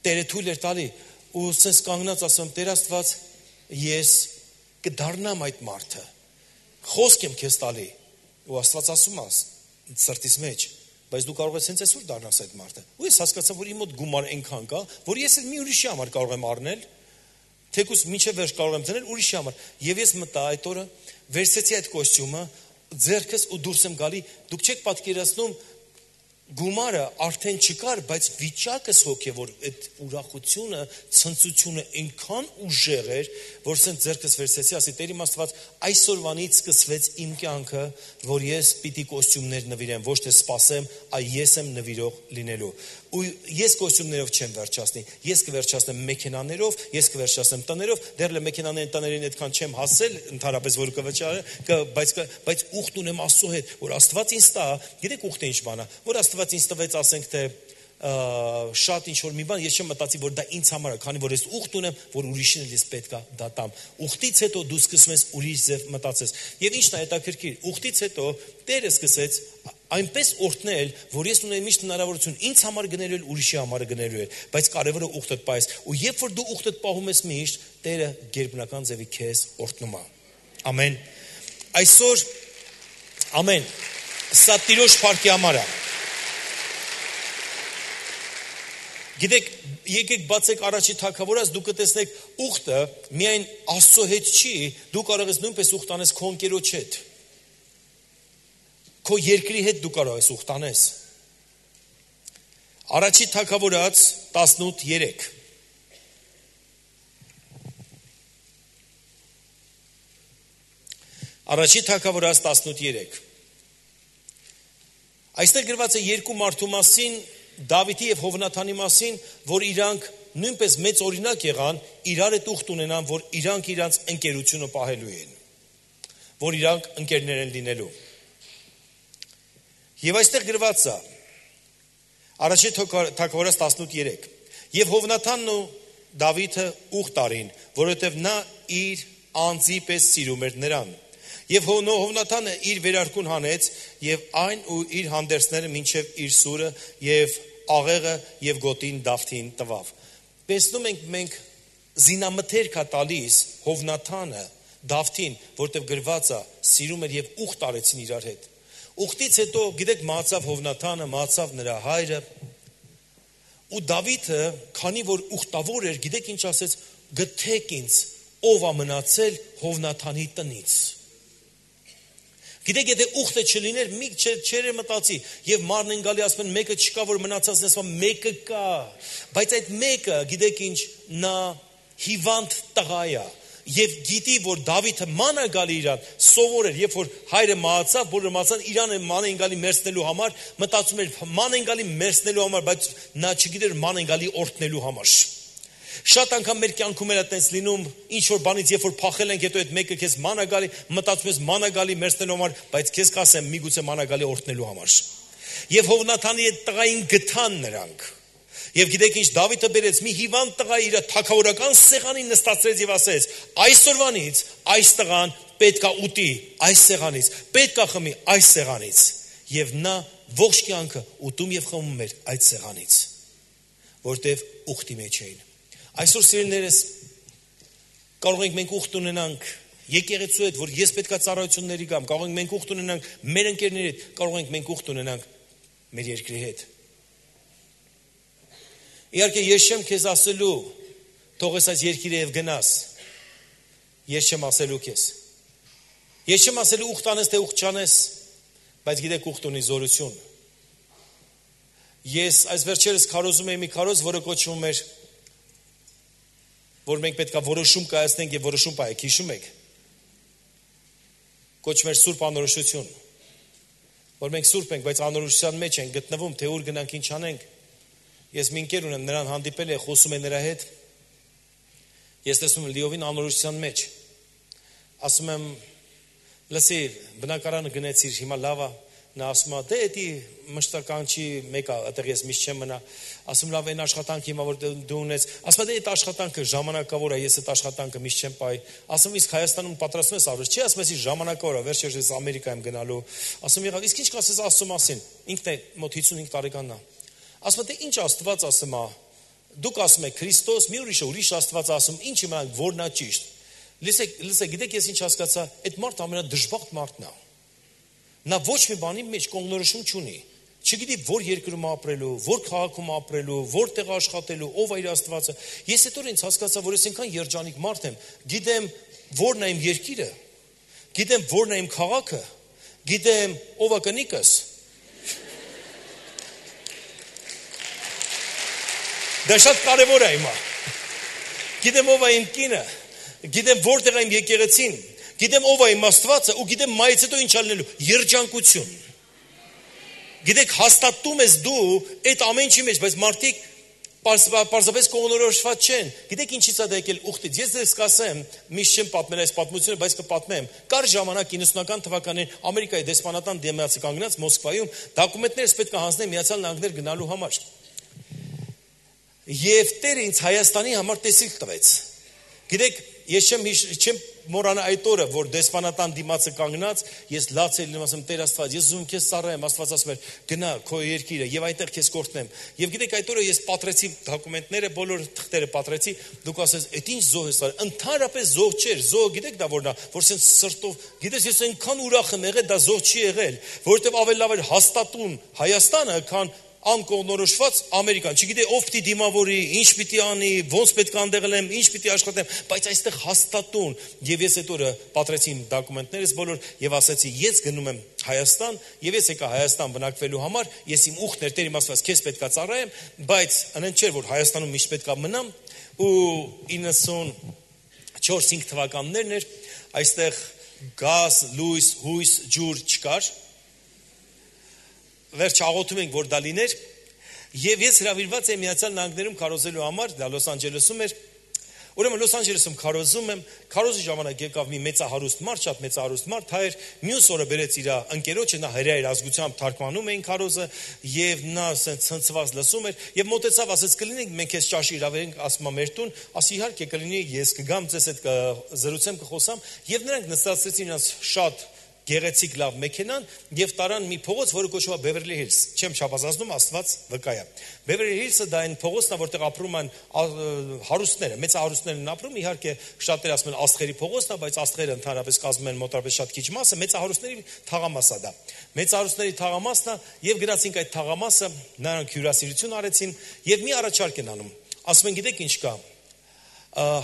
Տերը թույլ էր տալի, ու սենց կանգնած ասում, Տեր Աստված, ես կդառնամ այդ մարդը։ Խոսք եմ քեզ տալի։ Ու Աստված ասում է սրտիս մեջ, բայց դու կարող ես հենց այսօր դառնաս այդ մարդը։ Ու ես հասկացա, որ իմ մոտ գումար այնքան կա, որ ես էլ մի ուրիշի համար կարող եմ առնել, թեկուզ մինչև վերջ կարող եմ դնել ուրիշի համար։ Եվ ես մտա այդ օրը, վերցեցի այդ կոստյումը, ձեռքս ու դուրս եմ գալի, դուք չեք պատկերացնում, գումարը արդեն չկար, բայց վիճակս հոգևոր այդ ուրախությունը, ցնծությունը այնքան ուժեղ էր, որ սենց ձեռքս վերցեցի, ասի Տեր իմ Աստված, այսօրվանից սկսվեց իմ կյանքը, որ ես պիտի կոստյումներ նվիրեմ, ոչ թե սպասեմ, այլ ես եմ նվիրող լինելու։ Ու ես կոստյումներով չեմ վերջացնի, ես կվերջացնեմ մեքենաներով, ես կվերջացնեմ տներով, դեռ էլ մեքենաներին տներին այդքան չեմ հասել, ընդհանրապես որ կվճարը, բայց բայց ուխտ ունեմ Աստծո հետ, որ Աստված ինձ տա, գիտեք ուխտը ինչ բան է, որ Աստված ինձ տվեց, ասենք թե շատ ինչ որ մի բան, ես չեմ մտածի, որ դա ինձ համար է, քանի որ ես ուխտ ունեմ, որ ուրիշին էլ ես պետք է դա տամ։ Ուխտից հետո դու սկսում ես ուրիշ ձև մտածես։ Եվ ինչն է հետաքրքիր, ուխտից հետո Տերը սկսեց այնպես օրհնել, որ ես ունեմ միշտ հնարավորություն ինձ համար գնելու էլ ուրիշի համար գնելու էլ, բայց կարևորը ուխտդ պահես։ Ու երբ որ դու ուխտդ պահում ես միշտ, Տերը գերբնական ձևի քեզ օրհնում է։ Ամեն։ Այսօր ամեն։ Սա Տիրոջ փառքի համար է։ Գիտեք, եկեք բացեք առաջի թագավորած, դուք կտեսնեք ուխտը միայն Աստծո հետ չի, դու կարող ես նույնպես ուխտ անես քո ընկերոջ հետ։ Քո երկրի հետ դու կարող ես ուխտ անես։ Առաջի թագավորած տասնութ երեք։ Առաջի թագավորած տասնութ երեք։ Այստեղ գրված է երկու մարդու մասին, Դավիթի եւ Հովնաթանի մասին, որ իրանք նույնպես մեծ օրինակ եղան, իրար հետ ուխտ ունենան, որ իրանք իրանց ընկերությունը պահելու են, որ իրանք ընկերներ են լինելու։ Եվ այստեղ գրված է Առաջի թագավորած տասնութ երեք։ Եվ Հովնաթանն ու Դավիթը ուխտ արին, որովհետև նա իր անձի պես սիրում էր նրան։ Եվ Հովնաթանը իր վերարկուն հանեց եւ այն ու իր հանդերձները մինչև իր սուրը եւ աղեղը եւ գոտին Դավթին տվավ։ Տեսնում ենք մենք զինամթերք է տալիս Հովնաթանը Դավթին, որտեղ գրված է սիրում էր եւ ուխտ արեցին իրար հետ։ Ուխտից հետո գիտեք մահացավ Հովնաթանը, մահացավ նրա հայրը։ Ու Դավիթը, քանի որ ուխտավոր էր, գիտեք ինչ ասեց, գթեք ինձ ով է մնացել Հովնաթանի տնից։ Գիտեք, եթե ուխտը չլիներ, մի չեր մտածի, եւ մարն են գալի ասում են մեկը չկա, որ մնացածն ասում մեկը կա, բայց այդ մեկը, գիտեք ինչ, նա հիվանդ տղա է, եւ գիտի, որ Դավիթը ման է գալի իրան, սովոր էր, երբ որ հայրը մահացավ, բոլորը մահացան, իրան ման են գալի մերցնելու համար, մտածում էր ման են գալի մերցնելու համար, բայց նա չգիտեր ման են գալի օրհնելու համար։ Շատ անգամ մեր կյանքում էլ այդպես լինում, ինչ որ բանից երբ որ փախել ենք, հետո այդ մեկը քեզ մանա գալի, մտածում ես մանա գալի մերցնելու համար, բայց քեզ կասեմ միգուցե մանա գալի օրհնելու համար։ Եվ Հովնաթանի այդ տղային գտան նրանք։ Եվ գիտեք ինչ, Դավիթը բերեց մի հիվանդ տղա իր թագավորական սեղանին նստացրեց եւ ասեց. այսօրվանից այս տղան պետքա ուտի այս սեղանից, պետքա խմի այս սեղանից։ Եվ նա ողջ կյանքը ուտում եւ խմում էր այդ սեղանից, որտեվ ուխտի մեջ էին։ Այսօր սիրելիներս կարող ենք մենք ուխտ ունենանք եկեղեցու հետ, որ ես պետքա ծառայությունների գամ, կարող ենք մենք ուխտ ունենանք մեր ընկերների հետ, կարող ենք մենք ուխտ ունենանք մեր երկրի հետ։ Իհարկե ես չեմ քեզ ասելու թող ես այս երկիրը եւ գնաս։ Ես չեմ ասելու քեզ։ Ես չեմ ասելու ուխտ անես թե ուխտ չանես, բայց գիտեք ուխտ ունի զորություն։ Ես այս վերջերս քարոզում եմ մի քարոզ, որը կոչվում էր, որ մենք պետք է որոշում կայացնենք եւ որոշում պահենք, հիշում եք։ Կոչվում էր Սուրբ Անորոշություն։ Որ մենք սուրբ ենք, բայց անորոշության մեջ ենք գտնվում, թե ուր գնանք, ինչ անենք։ Ես մի ընկեր ունեմ, նրան հանդիպել եմ, խոսում եմ նրա հետ։ Ես տեսնում եմ լիովին անորոշության մեջ։ Ասում եմ, լսի, բնակարանը գնացիր, հիմա լավ է, նա ասում է, դե էդի մշտական չի, մեկը այդտեղ ես միշտ չեմ մնա, ասում լավ այն աշխատանքը հիմա որ դու ունես, ասում դե այդ աշխատանքը ժամանակավոր է, ես այդ աշխատանքը միշտ չեմ պահի, ասում իսկ Հայաստանում պատրաստվում ես ավրես, չի ասում ես ժամանակավոր է, վերջերս ես Ամերիկայում գնալու, ասում եղավ, իսկ ինչ կասես Աստծո մասին, ինքն է մոտ հիսունհինգ տարեկանն է, ասում դե ինչ Աստված ասում է, դուք ասում եք Քրիստոս, մի ուրիշ ուրիշ Աստված ասում, ինչ իմանանք որն է ճիշտ, լսեք, լսեք, գիտեք ես ինչ հասկացա, այդ մարդը ամենադժբախտ մարդն է, նա ոչ մի բանի մեջ կողմնորոշում չունի, չգիտի որ երկրում ապրելու, որ քաղաքում ապրելու, որտեղ աշխատելու, ով է իր Աստվածը։ Ես այդ օրը ինձ հասկացա, որ ես այնքան երջանիկ մարդ եմ, գիտեմ որն է իմ երկիրը, գիտեմ որն է իմ քաղաքը, գիտեմ ով է կնիկս։ Դա շատ կարևոր է հիմա։ Գիտեմ ով է իմ կինը, գիտեմ որտեղ է իմ եկեղեցին, գիտեմ ով է իմ Աստվածը ու գիտեմ մայից հետո ինչ ալնելու, երջանկություն։ Գիտեք հաստատում ես դու այդ ամեն ինչի մեջ, բայց մարդիկ պարզապես կողմնորոշված չեն։ Գիտեք ինչից է դա եկել ուխտից։ Ես դες կասեմ, միշտ չեմ պատմել այս պատմությունը, բայց կպատմեմ։ Կար ժամանակ իննսունական թվականին Ամերիկայի դեսպանատան դեմացի կանգնած Մոսկվայում դոկումենտներս պետք է հանձնեմ Միացյալ Նահանգներ գնալու համար։ Եվ Տերը ինձ Հայաստանի համար տեսիլ տվեց։ Գիտեք, ես չեմ չեմ մոռանա այդ օրը, որ դեսպանատան դիմացը կանգնած, ես լաց եմ ասում Տեր Աստված, ես ուզում քեզ ծառայեմ, Աստված ասում էր, գնա քո երկիրը եւ այդտեղ քեզ կորտնեմ։ Եվ գիտեք այդ օրը ես պատրեցի դոկումենտները, բոլոր թղթերը պատրեցի, դուք ասես, «Էդ ինչ զոհ ես արել»։ Ընդհանրապես զոհ չէր, զոհ գիտեք դա որն է, որ սենց սրտով, գիտես ես այնքան ուրախ եմ եղել, դա զոհ չի եղել, որովհետեւ ավելի լավ էր հաստատուն Հայաստանը, քան անկողնորոշված Ամերիկան, չգիտե ով պիտի դիմավորի, ինչ պիտի անի, ոնց պետք է անդեղելեմ, ինչ պիտի աշխատեմ, բայց այստեղ հաստատուն եւ ես այդ օրը պատրեցի իմ դոկումենտներս բոլոր եւ ասացի ես գնում եմ Հայաստան եւ ես եկա Հայաստան բնակվելու համար, ես իմ ուխտներ Տեր իմ Աստված քեզ պետք է ծառայեմ, բայց անեն չէր որ Հայաստանում միշտ պետք է մնամ ու իննսունչորս թվականներն էր, այստեղ գազ, լույս, հույս, ջուր չկար Վերջ աղոթում ենք, որ դա լիներ, եւ ես հրավիրված եմ Միացյալ Նահանգներում քարոզելու համար, դա Լոս Անջելեսում էր, ուրեմն Լոս Անջելեսում քարոզում եմ, քարոզի ժամանակ եկավ մի մեծահարուստ մարդ, շատ մեծահարուստ մարդ, հայր, մյուս օրը բերեց իր ընկերոջը, նա հրեա իր ազգությամբ թարգմանում էին քարոզը, եւ նա ասենց ցնցված լսում էր, եւ մոտեցավ, ասեց կլինենք մենք քեզ ճաշի հրավիրենք, ասում է մեր տուն, ասի իհարկե կլինի, ես կգամ ձեզ հետ զրուցեմ, կխոսամ, եւ նրանք նստացրեցին իրաց շատ գեղեցիկ լավ մեքենան եւ տարան մի փողոց, որը կոչվում է Beverly Hills։ Չեմ չափազանցնում, Աստված վկայ է։ Beverly Hills-ը դա այն փողոցն է, որտեղ ապրում են հարուստները, մեծ հարուստներն են ապրում, իհարկե շատերը ասում են աստղերի փողոցն է, բայց աստղերը ընդհանրապես կազմում են մոտավորապես շատ քիչ մասը, մեծ հարուստների թաղամասը դա։ Մեծ հարուստների թաղամասն է եւ գնացինք այդ թաղամասը, նրանք հյուրասիրություն արեցին եւ մի առաջարկ են անում։ Ասում են, գիտեք ինչ կա։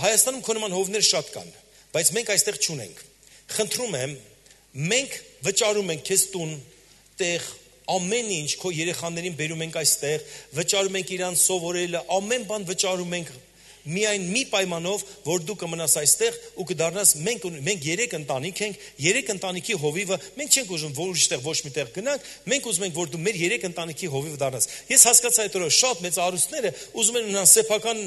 Հայաստանում քո նման հովներ շատ կան, բայց մենք այստեղ չունենք։ Խնդրում եմ Մենք վճարում ենք քեզ տուն, տեղ, ամեն ինչ քո երեխաներին բերում ենք այստեղ, վճարում ենք իրանց սովորելը, ամեն բան վճարում ենք միայն մի պայմանով, որ դու կմնաս այստեղ ու կդառնաս մենք մենք երեք ընտանիք ենք, երեք ընտանիքի հովիվը, մենք չենք ուզում որ ուրիշտեղ ոչ միտեղ գնանք, մենք ուզում ենք որ դու մեր երեք ընտանիքի հովիվ դառնաս։ Ես հասկացա այդ օրը շատ մեծ արուստները ուզում են ունենան սեփական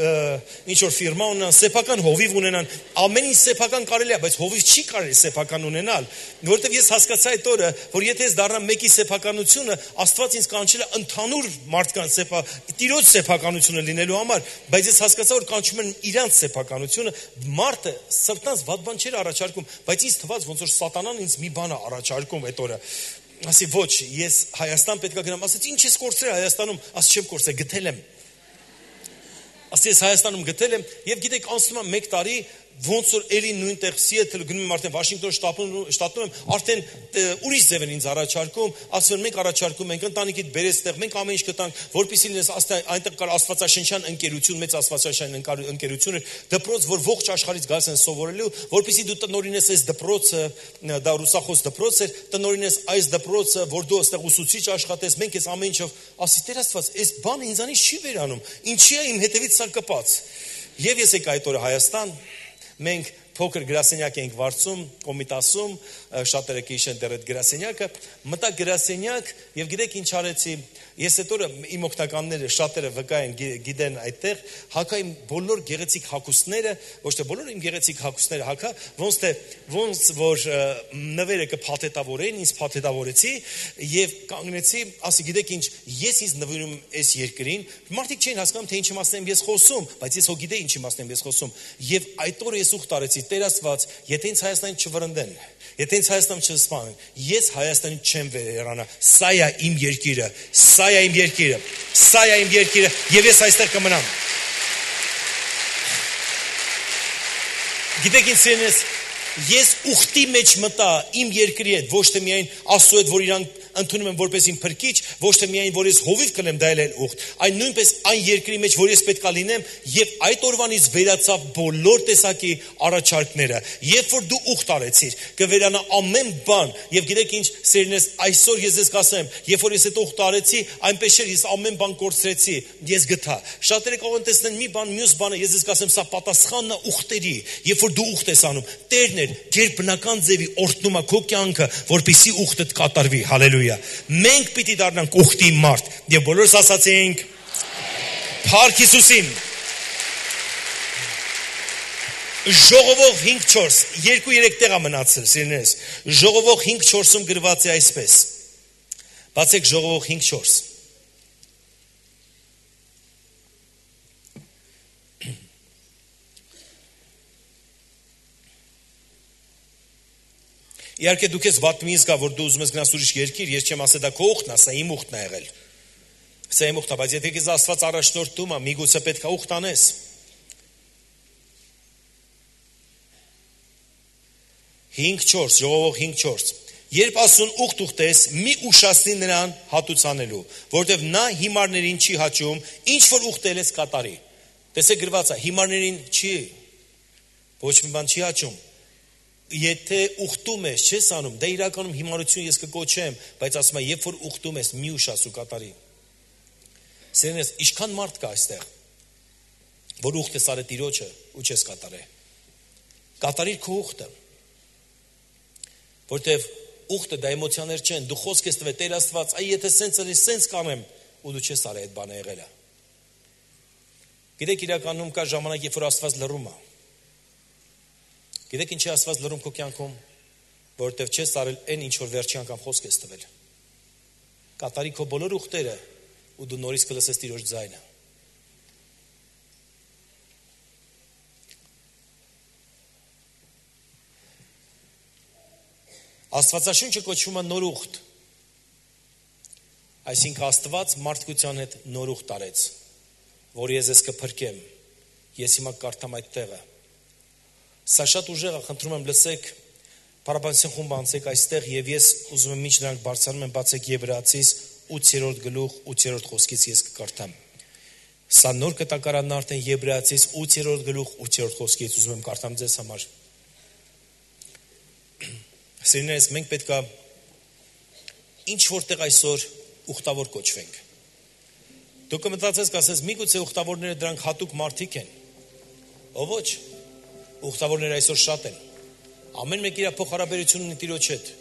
ինչ որ ֆիրմա ունենան, սեփական հովիվ ունենան, ամեն ինչ սեփական կարելի է, բայց հովիվ չի կարելի սեփական ունենալ, որովհետև ես հասկացա այդ օրը, որ եթե ես դառնամ մեկի սեփականությունը, Աստված ինձ կանչել է ընդհանուր մարդկանց սեփա, տիրոջ սեփականությունը լինելու համար, բայց ես հասկացա որ կանչում են իրանց սեփականությունը, մարդը սրտանց վատ բան չէր առաջարկում, բայց ինձ թվաց ոնց որ սատանան ինձ մի բան է առաջարկում այդ օրը։ Ասի ոչ, ես Հայաստան պետք է գնամ, ասեց ինչ ես կորցրել Հայաստանում, ասի չեմ կորցրել, գտել եմ։ Ասի ես Հայաստանում գտել եմ եւ գիտեք անցնում է մեկ տարի ոնց որ էլի նույնտեղ Սիեթլ գնում եմ արդեն Վաշինգտոն շտատում շտատում եմ արդեն ուրիշ ձև են ինձ առաջարկում ասում են մենք առաջարկում ենք ընտանիքիդ բերես տեղ մենք ամեն ինչ կտանք որպեսզի լինես այնտեղ կար աստվածաշնչյան ընկերություն մեծ աստվածաշնչյան ընկերություն էր դպրոց որ ողջ աշխարհից գալիս են սովորելու որպեսզի դու տնօրինես այս դպրոցը դա ռուսախոս դպրոց էր տնօրինես այս դպրոցը որ դու այստեղ ուսուցիչ աշխատես մենք ես ամեն ինչով ասի Տեր Աստված այս բանը ինձանից չի վերանում ինչի է իմ հետևից սա կպած եւ ես եկա այդ օրը Հայաստան Մենք փոքր գրասենյակ ենք վարձում, Կոմիտասում շատերը կհիշեն դեռ այդ գրասենյակը, մտա գրասենյակ եւ գիտեք ինչ արեցի, ես այդ օրը իմ օգնականները շատերը վկա են գիտեն այդտեղ, հակա իմ բոլոր գեղեցիկ հագուստները, ոչ թե բոլոր իմ գեղեցիկ հագուստները հակա, ոնց թե ոնց որ նվերը կփաթեթավորեն, ինձ փաթեթավորեցի եւ կանգնեցի, ասի գիտեք ինչ, ես ինձ նվիրում այս երկրին, մարդիկ չէին հասկանում թե ինչ իմաստն եմ ես խոսում, բայց ես հո գիտեի ինչ իմաստն եմ ես խոսում եւ այդ օրը ես ուխտ արեցի, Տեր Աստված, եթե ինձ Հայաստանին չվրընդեն, եթե ինձ Հայաստանում չսպանեն, ես Հայաստանին չեմ վերանա, սա է իմ երկիրը, սա է իմ երկիրը, սա է իմ երկիրը եւ ես այստեղ կմնամ։ Գիտեք ինչ սիրելիս, ես ուխտի մեջ մտա իմ երկրի հետ, ոչ թե միայն Աստծո հետ, որ իրան ընդունում եմ որպես իմ փրկիչ, ոչ թե միայն որ ես հովիվ կլեմ դա էլ ուխտ, այլ նույնպես այն երկրի մեջ, որ ես պետքա լինեմ, եւ այդ օրվանից վերացավ բոլոր տեսակի առաջարկները։ Երբ որ դու ուխտ արեցիր, կվերանա ամեն բան, եւ գիտեք ինչ, սերնես, այսօր ես ես կասեմ, երբ որ ես այդ ուխտ արեցի, այնպես չէր, ես ամեն բան կորցրեցի, ես գտա։ Շատերը կարող են տեսնել մի բան, մյուս բանը, ես ես կասեմ, սա պատասխանն է ուխտերի, երբ որ դու ուխտ ես անում, Տերն էր, գերբնական ձևի օրհնում է քո կյանքը, որպեսզի ուխտդ կատարվի, հալելույա։ Մենք պիտի դառնանք ուխտի մարդ եւ բոլորս ասացինք Փառք Հիսուսին։ Ժողովող հինգ չորս, երկու երեք տեղ է մնացել, սիրելիներս։ Ժողովող հինգ չորսում գրված է այսպես։ Բացեք Ժողովող հինգ չորս։ Իհարկե դուք ես վատ մի զգա, որ դու ուզում ես գնաս ուրիշ երկիր, ես չեմ ասել դա քո ուխտն է, սա իմ ուխտն է եղել։ Սա իմ ուխտն է, բայց եթե քեզ Աստված առաջնորդում է, միգուցե պետք է ուխտ անես։ հինգ չորս, Ժողովող հինգ չորս։ Երբ ասուն ուխտ ուխտես, մի ուշացնի նրան հատուցանելու, որովհետև նա հիմարներին չի հաճում, ինչ որ ուխտել ես կատարի։ Տեսեք գրված է, հիմարներին չի, ոչ մի բան չի հաճում։ Եթե ուխտում ես, չես անում, դա իրականում հիմարություն ես կկոչեմ, բայց ասում եմ, երբ որ ուխտում ես, մի ուշացու կատարի։ Սերնես, ինչքան մարդ կա այստեղ, որ ուխտ ես արել Տիրոջը ու չես կատարել։ Կատարիր քո ուխտը։ Որտեվ ուխտը դա էմոցիաներ չեն, դու խոսք ես տվել Տեր Աստված, այ եթե սենց ալի, սենց կանեմ, ու դու չես արել այդ բանը եղել է։ Գիտեք իրականում կա ժամանակ, երբ որ Աստված լռում է։ Գիտեք ինչի Աստված լռում քո կյանքում, որովհետև չես արել այն ինչ որ վերջի անգամ խոսք ես տվել։ Կատարի քո բոլոր ուխտերը ու դու նորից կլսես Տիրոջ ձայնը։ Աստվածաշունչը կոչվում է նոր ուխտ։ Այսինքն Աստված մարդկության հետ նոր ուխտ արեց, որ ես ես կփրկեմ։ Ես հիմա կարդամ այդ տեղը։ Սա շատ ուժեղ է, խնդրում եմ լսեք, Փառաբանության խումբը անցեք այստեղ եւ ես ուզում եմ ինչ նրանք բարձրանում են բացեք Եբրայեցիս ութերորդ գլուխ ութերորդ խոսքից ես կկարդամ։ Սա նոր կտակարանն արդեն Եբրայեցիս ութերորդ գլուխ ութերորդ խոսքից ուզում եմ կարդամ ձեզ համար։ Սիրելիներս, մենք պետք է ինչ որտեղ այսօր ուխտավոր կոչվենք։ Դուք կմտածես, կասես, միգուցե ուխտավորները դրանք հատուկ մարդիկ են։ Ո ոչ, ուխտավորները այսօր շատ են։ Ամեն մեկ իր փոխհարաբերություն ունի Տիրոջ հետ։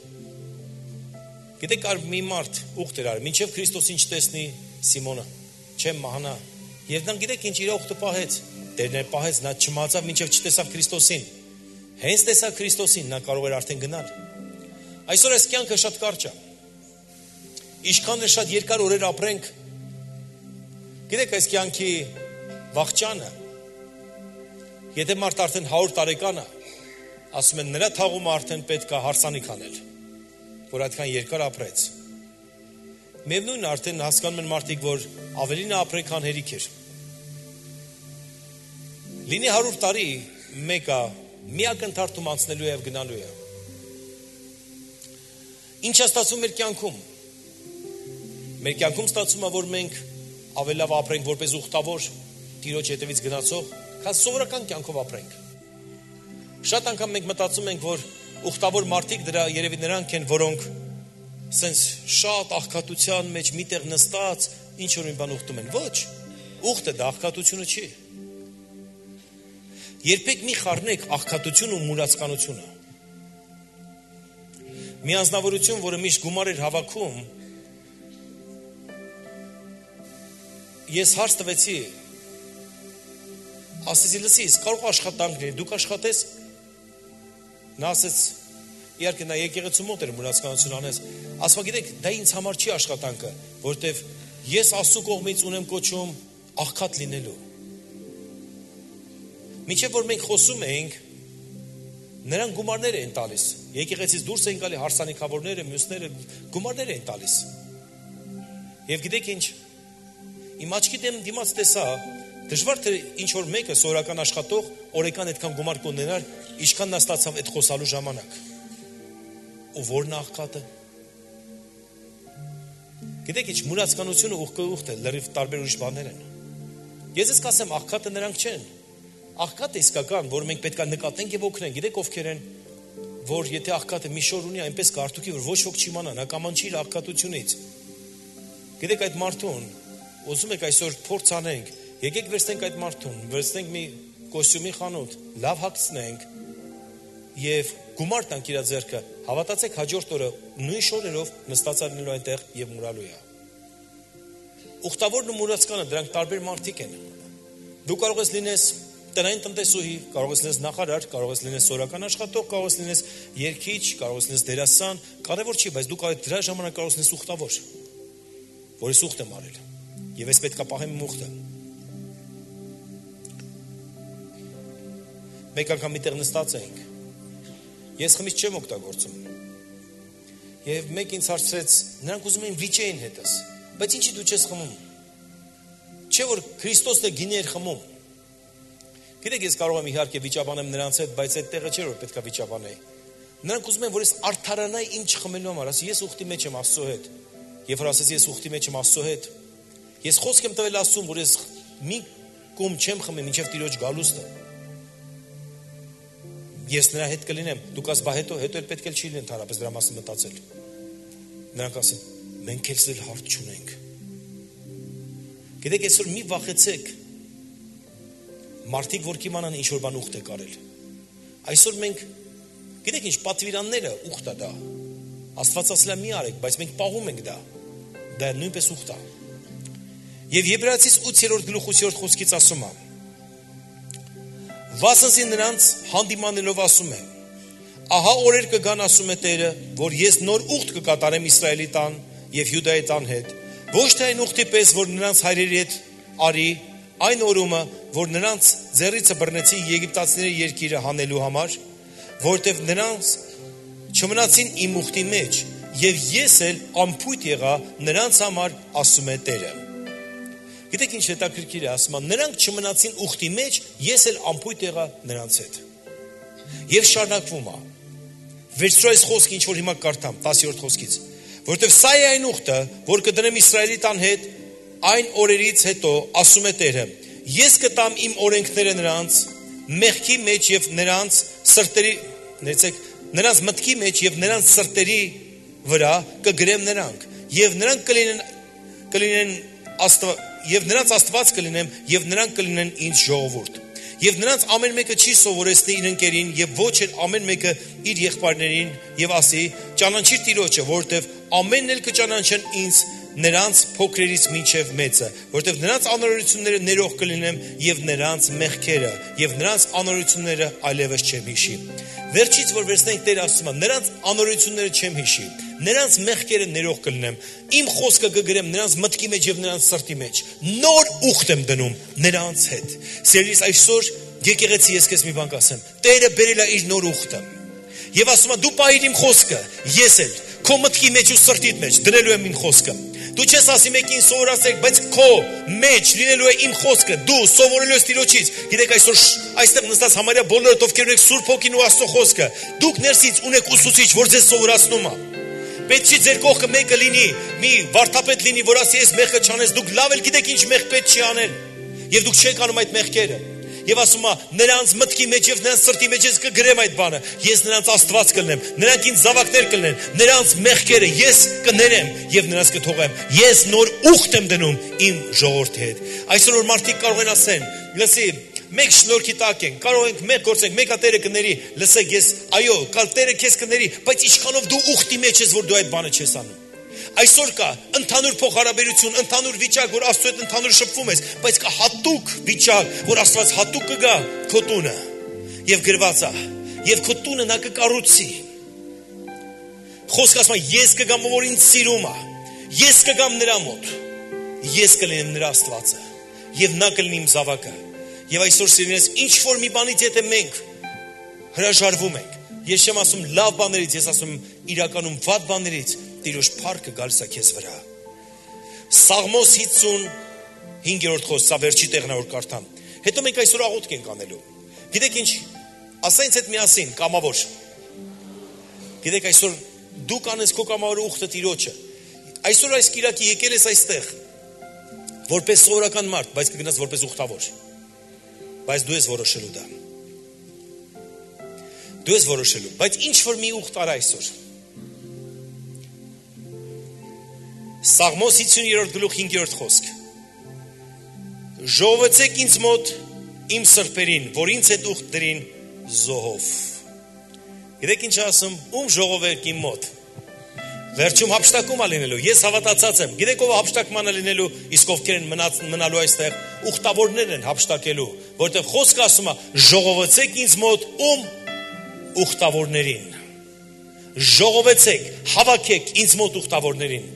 Գիտեք, կար մի մարդ ուխտ էր արել, մինչև Քրիստոսին չտեսնի Սիմոնը, չեմ մահանա։ Եվ նա գիտեք ինչ իր ուխտը պահեց։ Տերն է պահեց, նա չմահացավ մինչև չտեսավ Քրիստոսին։ Հենց տեսավ Քրիստոսին, նա կարող էր արդեն գնալ։ Այսօր այս կյանքը շատ կարճ է։ Ինչքան էլ շատ երկար օրեր ապրենք, գիտեք այս կյանքի վախճանը, եթե մարդ արդեն հարյուր տարեկան է, ասում են նրա թաղումը արդեն պետք է հարսանիք անել, որ այդքան երկար ապրեց։ Միևնույն է, արդեն հասկանում են մարդիկ, որ ավելին է ապրել, քան հերիք էր։ Լինի հարյուր տարի, մեկը մի ակնթարթում անցնելու է եւ գնալու է։ Ինչ է ստացվում մեր կյանքում։ Մեր կյանքում ստացվում է, որ մենք ավելավ ապրենք որպես ուխտավոր, Տիրոջ հետևից գնացող, քան սովորական կյանքով ապրենք։ Շատ անգամ մենք մտածում ենք, որ ուխտավոր մարդիկ դրա երևի նրանք են, որոնք սենց շատ աղքատության մեջ միտեղ նստած ինչ որ մի բան ուխտում են։ Ոչ, ուխտը դա աղքատությունը չի։ Երբեք մի խառնեք աղքատություն ու մուրացկանությունը։ Մի անձնավորություն, որը միշտ գումար էր հավաքում, ես հարց տվեցի, ասեցի, լսի, կարող աշխատանք լինի, դուք աշխատես, նա ասեց, իհարկե նա եկեղեցու մոտ էր մուրացկանություն անես, ասવા գիտեք, դա ինձ համար չի աշխատանքը, որտեվ ես Աստծո կողմից ունեմ կոչում աղքատ լինելու։ Մինչև որ մենք խոսում էինք, նրանք գումարներ էին տալիս, եկեղեցից դուրս էին գալի հարսանիքավորները, մյուսները գումարներ էին տալիս։ Եվ գիտեք ինչ, իմ աչքի դեմ դիմաց տեսա, դժվար թե ինչ որ մեկը սովորական աշխատող օրական այդքան գումար կունենար, ինչքան նա ստացավ այդ խոսալու ժամանակ։ Ու որն աղքատը։ Գիտեք ինչ, մուրացկանությունը ուղղուղտ է, լրիվ տարբեր ուրիշ բաներ են։ Ես ես կասեմ, աղքատը նրանք չեն։ Աղքատը իսկական, որ մենք պետք է նկատենք եւ օգնենք։ Գիտեք ովքեր են, որ եթե աղքատը մի շոր ունի, այնպես կարտուքի, որ ոչ ոք չիմանա, նա կամանչի իր աղքատությունից։ Գիտեք այդ մարդուն, ուզում եք այսօր փորձ անենք, եկեք վերցնենք այդ մարդուն, վերցնենք մի կոստյումի խանութ, լավ հագցնենք եւ գումար տանք իր ձեռքը, հավատացեք հաջորդ օրը նույն շորերով նստած լինելու այնտեղ եւ մուրալու է։ Ուխտավորն ու մուրացկանը դրանք տարբեր մարդիկ են։ Դու կարող ես լինես տնային տնտեսուհի, կարող ես լինես նախարար, կարող ես լինես սորական աշխատող, կարող ես լինես երգիչ, կարող ես լինես դերասան, կարևոր չի, բայց դու կարող դրա ժամանակ կարող ես լինես ուխտավոր, որ ես ուխտ եմ արել։ Եվ ես պետք է պահեմ իմ ուխտը։ Մեկ անգամ միտեղ նստած էինք։ Ես խմիչք չեմ օգտագործում։ Եվ մեկ ինձ հարցրեց, նրանք ուզում էին վիճեին հետս, բայց ինչի դու չես խմում։ Չէ որ Քրիստոսն է գինի էր խմում։ Գիտեք, ես կարող եմ իհարկե վիճաբանեմ նրանց հետ, բայց այդ տեղը չէ որ պետք է վիճաբանեի։ Նրանք ուզում են որ ես արդարանայի ինչ խմելու համար, ասի ես ուխտի մեջ եմ Աստծո հետ։ Երբ որ ասեցի ես ուխտի մեջ եմ Աստծո հետ, ես խոսք եմ տվել Աստծուն, որ ես մի կում չեմ խմի մինչև Տիրոջ գալուստը։ Ես նրա հետ կլինեմ, դուք ասես բա հետո հետո էլ պետք է չի լինեն ընդհանրապես դրա մասին մտածել։ Նրանք ասեն, մենք էլ հարց չունենք։ Գիտեք, այսօր մի վախեցեք։ Մարդիկ որ կիմանան ինչ որ բան ուխտ է կարել։ Այսօր մենք գիտեք ինչ պատվիրանները ուխտ է դա։ Աստված ասել է մի արեք, բայց մենք պահում ենք դա։ Դա նույնպես ուխտ է։ Եվ Եբրայեցիս ութ-րդ գլուխ ութ-րդ խոսքից ասում է. Վասնզի նրանց հանդիմանելով ասում է. Ահա օրեր կգան ասում է Տերը, որ ես նոր ուխտ կկատարեմ Իսրայելի տան եւ Յուդայի տան հետ, ոչ թե այն ուխտի պես, որ նրանց հայրերի հետ արի, այն օրումը, որ նրանց ձեռիցը բռնեցի եգիպտացիների երկիրը հանելու համար, որտեղ նրանց չմնացին իմ ուխտի մեջ, եւ ես էլ անփույթ եղա նրանց համար, ասում է Տերը։ Գիտեք ինչ հետաքրքիր է, ասում է, նրանք չմնացին ուխտի մեջ, ես էլ անփույթ եղա նրանց հետ։ Եվ շարունակվում է։ Վերցրու այս խոսքը, ինչ որ հիմա կարդամ, տասրորդ խոսքից, որտեղ սա է այն ուխտը, որ կդնեմ Իսրայելի տան հետ, այն օրերից հետո, ասում է Տերը, ես կտամ իմ օրենքները նրանց մեղքի մեջ եւ նրանց սրտերի, ներեցեք, նրանց մտքի մեջ եւ նրանց սրտերի վրա կգրեմ նրանք, եւ նրանք կլինեն կլինեն աստվա Եվ նրանց Աստված կլինեմ, եւ նրանք կլինեն ինձ ժողովուրդ։ Եվ նրանց ամեն մեկը չի սովորեցնի իր ընկերին, եւ ոչ էլ ամեն մեկը իր եղբայրներին, եւ ասի, ճանաչիր Տիրոջը, որովհետեւ ամենն էլ կճանաչեն ինձ նրանց փոքրերից մինչև մեծը, որովհետև նրանց անօրությունները ներող կլինեմ եւ նրանց մեղքերը եւ նրանց անօրությունները այլևս չեմ հիշի։ Վերջից որ վերցնենք Տեր ասում է, նրանց անօրությունները չեմ հիշի, նրանց մեղքերը ներող կլինեմ, իմ խոսքը կգրեմ նրանց մտքի մեջ եւ նրանց սրտի մեջ, նոր ուխտ եմ դնում նրանց հետ։ Սիրելիս, այսօր եկեղեցի ես քեզ մի բան կասեմ, Տերը բերել է իր նոր ուխտը։ Եվ ասում է, դու պահիր իմ խոսքը, ես էլ քո մտքի մեջ ու սրտիդ մեջ դնելու եմ իմ խոսքը։ Դու չես ասի մեկին սովորացեք, բայց քո մեջ լինելու է իմ խոսքը, դու սովորելու ես Տիրոջից։ Գիտեք, այսօր այստեղ նստած համարյա բոլորդ ովքեր ունեք Սուրբ Հոգին ու Աստծո խոսքը, դուք ներսից ունեք ուսուցիչ, որ ձեզ սովորացնում է։ Պետք չի ձեր կողքը մեկը լինի, մի վարդապետ լինի, որ ասի ես մեղքը չանես, դուք լավ էլ գիտեք ինչ մեղ պետք չի անել։ Եվ դուք չեք անում այդ մեղքերը։ Եվ ասում է, նրանց մտքի մեջ եւ նրանց սրտի մեջ ես կգրեմ այդ բանը։ Ես նրանց Աստված կլնեմ, նրանք ինձ զավակներ կլնեն, նրանց մեղքերը ես կներեմ եւ նրանց կթողեմ։ Ես նոր ուխտ եմ դնում իմ ժողովրդի հետ։ Այսօր որ մարդիկ կարող են ասեն, լսի, մեկ շնորհքի տակ ենք, կարող ենք մեկ գործենք, մեկը Տերը կների, լսեք ես, այո, կալ Տերը քեզ կների, բայց ինչքանով դու ուխտի մեջ ես, որ դու այդ բանը չես անում։ Այսօր կա ընդհանուր փոխհարաբերություն, ընդհանուր վիճակ, որ Աստծո հետ ընդհանուր շփվում ես, բայց կա հատուկ վիճակ, որ Աստված հատուկ կգա քո տունը եւ գրված է, եւ քո տունը նա կկառուցի։ Խոսքը ասում է, ես կգամ, որ ինձ սիրում է, ես կգամ նրա մոտ, ես կլինեմ նրա Աստվածը եւ նա կլինի իմ զավակը։ Եվ այսօր սիրելիներս, ինչ որ մի բանից եթե մենք հրաժարվում ենք, ես չեմ ասում լավ բաներից, ես ասում իրականում վատ բաներից, Տիրոջ փառքը գալիս է քեզ վրա։ Սաղմոս հինգերորդ խոսք, սա վերջի տեղն է որ կարդամ։ Հետո մենք այսօր աղոթք ենք անելու։ Գիտեք ինչ, ասա ինձ հետ միասին, կամավոր։ Գիտեք այսօր դու կանես քո կամավորը ուխտը Տիրոջը։ Այսօր այս կիրակի եկել ես այստեղ որպես սովորական մարդ, բայց կգնաս որպես ուխտավոր։ Բայց դու ես որոշելու դա։ Դու ես որոշելու, բայց ինչ որ մի ուխտ արա այսօր։ Սաղմոս հինգերորդ գլուխ հինգերորդ խոսք։ Ժողովեցեք ինձ մոտ իմ սրբերին, որ ինձ հետ ուխտ դրին զոհով։ Գիտեք ինչ ասում, ում ժողովեք իմ մոտ։ Վերջում հափշտակում է լինելու, ես հավատացած եմ։ Գիտեք ով հափշտակման է լինելու, իսկ ովքեր են մնալու այստեղ, ուխտավորներ են հափշտակելու, որտեղ խոսքը ասում է, ժողովեցեք ինձ մոտ ում ուխտավորներին։ Ժողովեցեք, հավաքեք ինձ մոտ ուխտավորներին։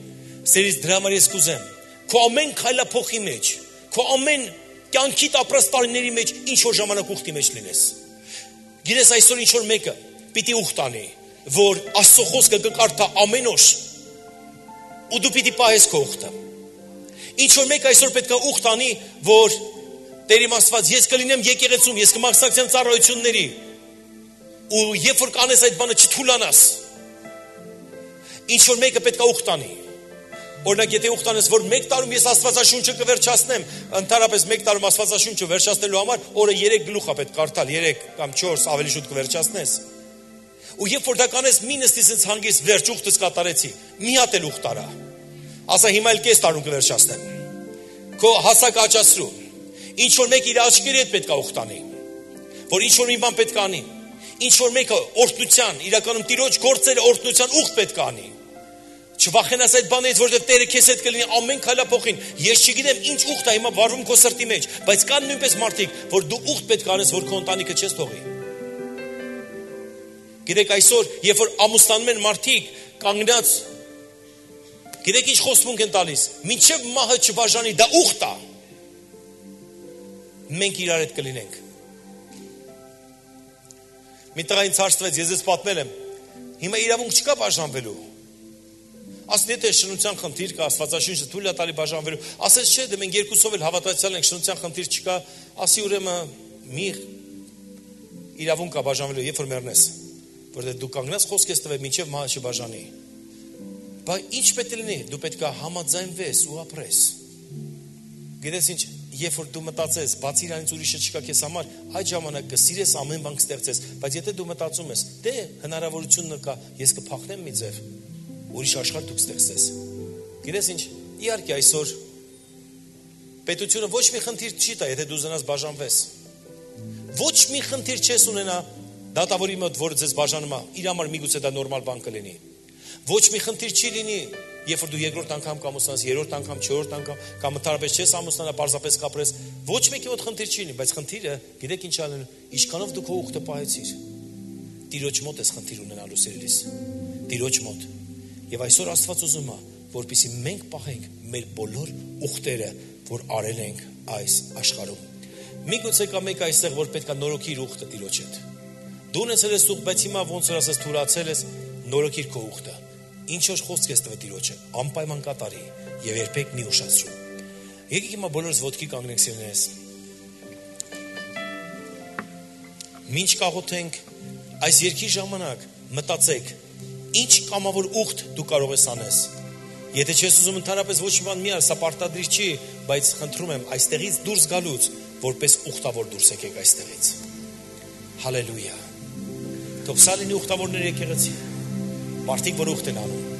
Սերից դրա համար ես կուզեմ, քո ամեն քայլափոխի մեջ, քո ամեն կյանքիդ ապրած տարիների մեջ ինչ որ ժամանակ ուխտի մեջ լինես։ Գիտես այսօր ինչ որ մեկը պիտի ուխտ անի, որ Աստծո խոսքը կկարդա ամեն օր, ու դու պիտի պահես քո ուխտը։ Ինչ որ մեկը այսօր պետք է ուխտ անի, որ Տեր իմ Աստված, ես կլինեմ եկեղեցում, ես կմասնակցեմ ծառայությունների, ու երբ որ կանես այդ բանը չթուլանաս։ Ինչ որ մեկը պետք է ուխտ անի։ Օրինակ եթե ուխտ անես, որ մեկ տարում ես Աստվածաշունչը կվերջացնեմ, ընդհանրապես մեկ տարում Աստվածաշունչը վերջացնելու համար օրը երեք գլուխ է պետք կարդալ, երեք կամ չորս ավելի շուտ կվերջացնես։ Ու երբ որ դա կանես, մի նստի sense հանգիստ վերջ ուխտս կատարեցի, մի հատ էլ ուխտ արա։ Ասա հիմա էլ կես տարում կվերջացնեմ։ Քո հասակը աճացրու։ Ինչ որ մեկ իր աչքերի հետ պետք է ուխտ անի, որ ինչ որ մի բան պետք է անի։ Ինչ որ մեկը օրհնության, իրականում Տիրոջ գործերը օրհնության ուխտ պետք է անի։ Չվախենաս այդ բանից, որովհետև Տերը քեզ հետ կլինի ամեն քայլափոխին։ Ես չգիտեմ ինչ ուխտ է հիմա վարվում քո սրտի մեջ, բայց կան նույնպես մարդիկ, որ դու ուխտ պետք անես, որ քո ընտանիքը չես թողի։ Գիտեք այսօր, երբ որ ամուսնանում են մարդիկ, կանգնած, գիտեք ինչ խոստմունք են տալիս, մինչև մահը չբաժանի, դա ուխտ է։ Մենք իրար հետ կլինենք։ Մի տղա ինձ հարցրեց, ես ես պատմել եմ, հիմա իրավունք չկա բաժանվելու։ Ասեն եթե շնության խնդիր կա, Աստվածաշունչը թույլ է տալի բաժանվելու, ասես չէ, դե մենք երկուսով էլ հավատացյալ ենք, շնության խնդիր չկա, ասի ուրեմն մի իրավունք կա բաժանվելու, երբ որ մեռնես, որտեղ դու կանգնած խոսք ես տվել մինչև մահը չբաժանի։ Բայց ինչ պետք է լինի, դու պետք է համաձայնվես ու ապրես։ Գիտես ինչ, երբ որ դու մտածես, բացի իրանից ուրիշը չկա քեզ համար, այդ ժամանակ կսիրես ամեն բան կստեղծես, բայց եթե դու մտածում ես, դե հնարավորությունն կա, ես կփախնեմ մի ձև, ուրիշ աշխարհ դու կստեղծես։ Գիտես ինչ, իհարկե այսօր պետությունը ոչ մի խնդիր չի տա, եթե դու զնաս բաժանվես։ Ոչ մի խնդիր չես ունենա դատավորի մոտ, որ ձեզ բաժանում է, իր համար միգուցե դա նորմալ բան կլինի։ Ոչ մի խնդիր չի լինի, երբ որ դու երկրորդ անգամ կամուսնաս, երրորդ անգամ, չորրորդ անգամ, կամ ընդհանրապես չես ամուսնանա, պարզապես կապրես, ոչ մեկի մոտ խնդիր չի լինի, բայց խնդիրը, գիտեք ինչ ալեն, ինչքանով դու քո ուխտը պահեցիր։ Տիրոջ մոտ ես խնդիր ունենալու սիրելիս։ Տիրոջ մոտ։ Եվ այսօր Աստված ուզում է, որպեսզի մենք պահենք մեր բոլոր ուխտերը, որ արել ենք այս աշխարհում։ Միգուցե կա մեկ այստեղ, որ պետք է նորոգի իր ուխտը Տիրոջ հետ։ Դու ունեցել ես ուխտ, բայց հիմա ոնց որ ասես թուրացել ես, նորոգիր քո ուխտը։ Ինչ որ խոսք ես տվել Տիրոջը, անպայման կատարի եւ երբեք մի ուշացրու։ Եկեք հիմա բոլորս ոտքի կանգնենք սիրելիներս։ Մինչ կաղոթենք, այս երկի ժամանակ մտածեք, ինչ կամավոր ուխտ դու կարող ես անես։ Եթե չես ուզում ընդհանրապես ոչ մի բան մի ար, սա պարտադիր չի, բայց խնդրում եմ այստեղից դուրս գալուց, որպես ուխտավոր դուրս եկեք այստեղից։ Հալելույա։ Թող սա լինի ուխտավորներ եկեղեցի։ Մարդիկ որ ուխտ են անում։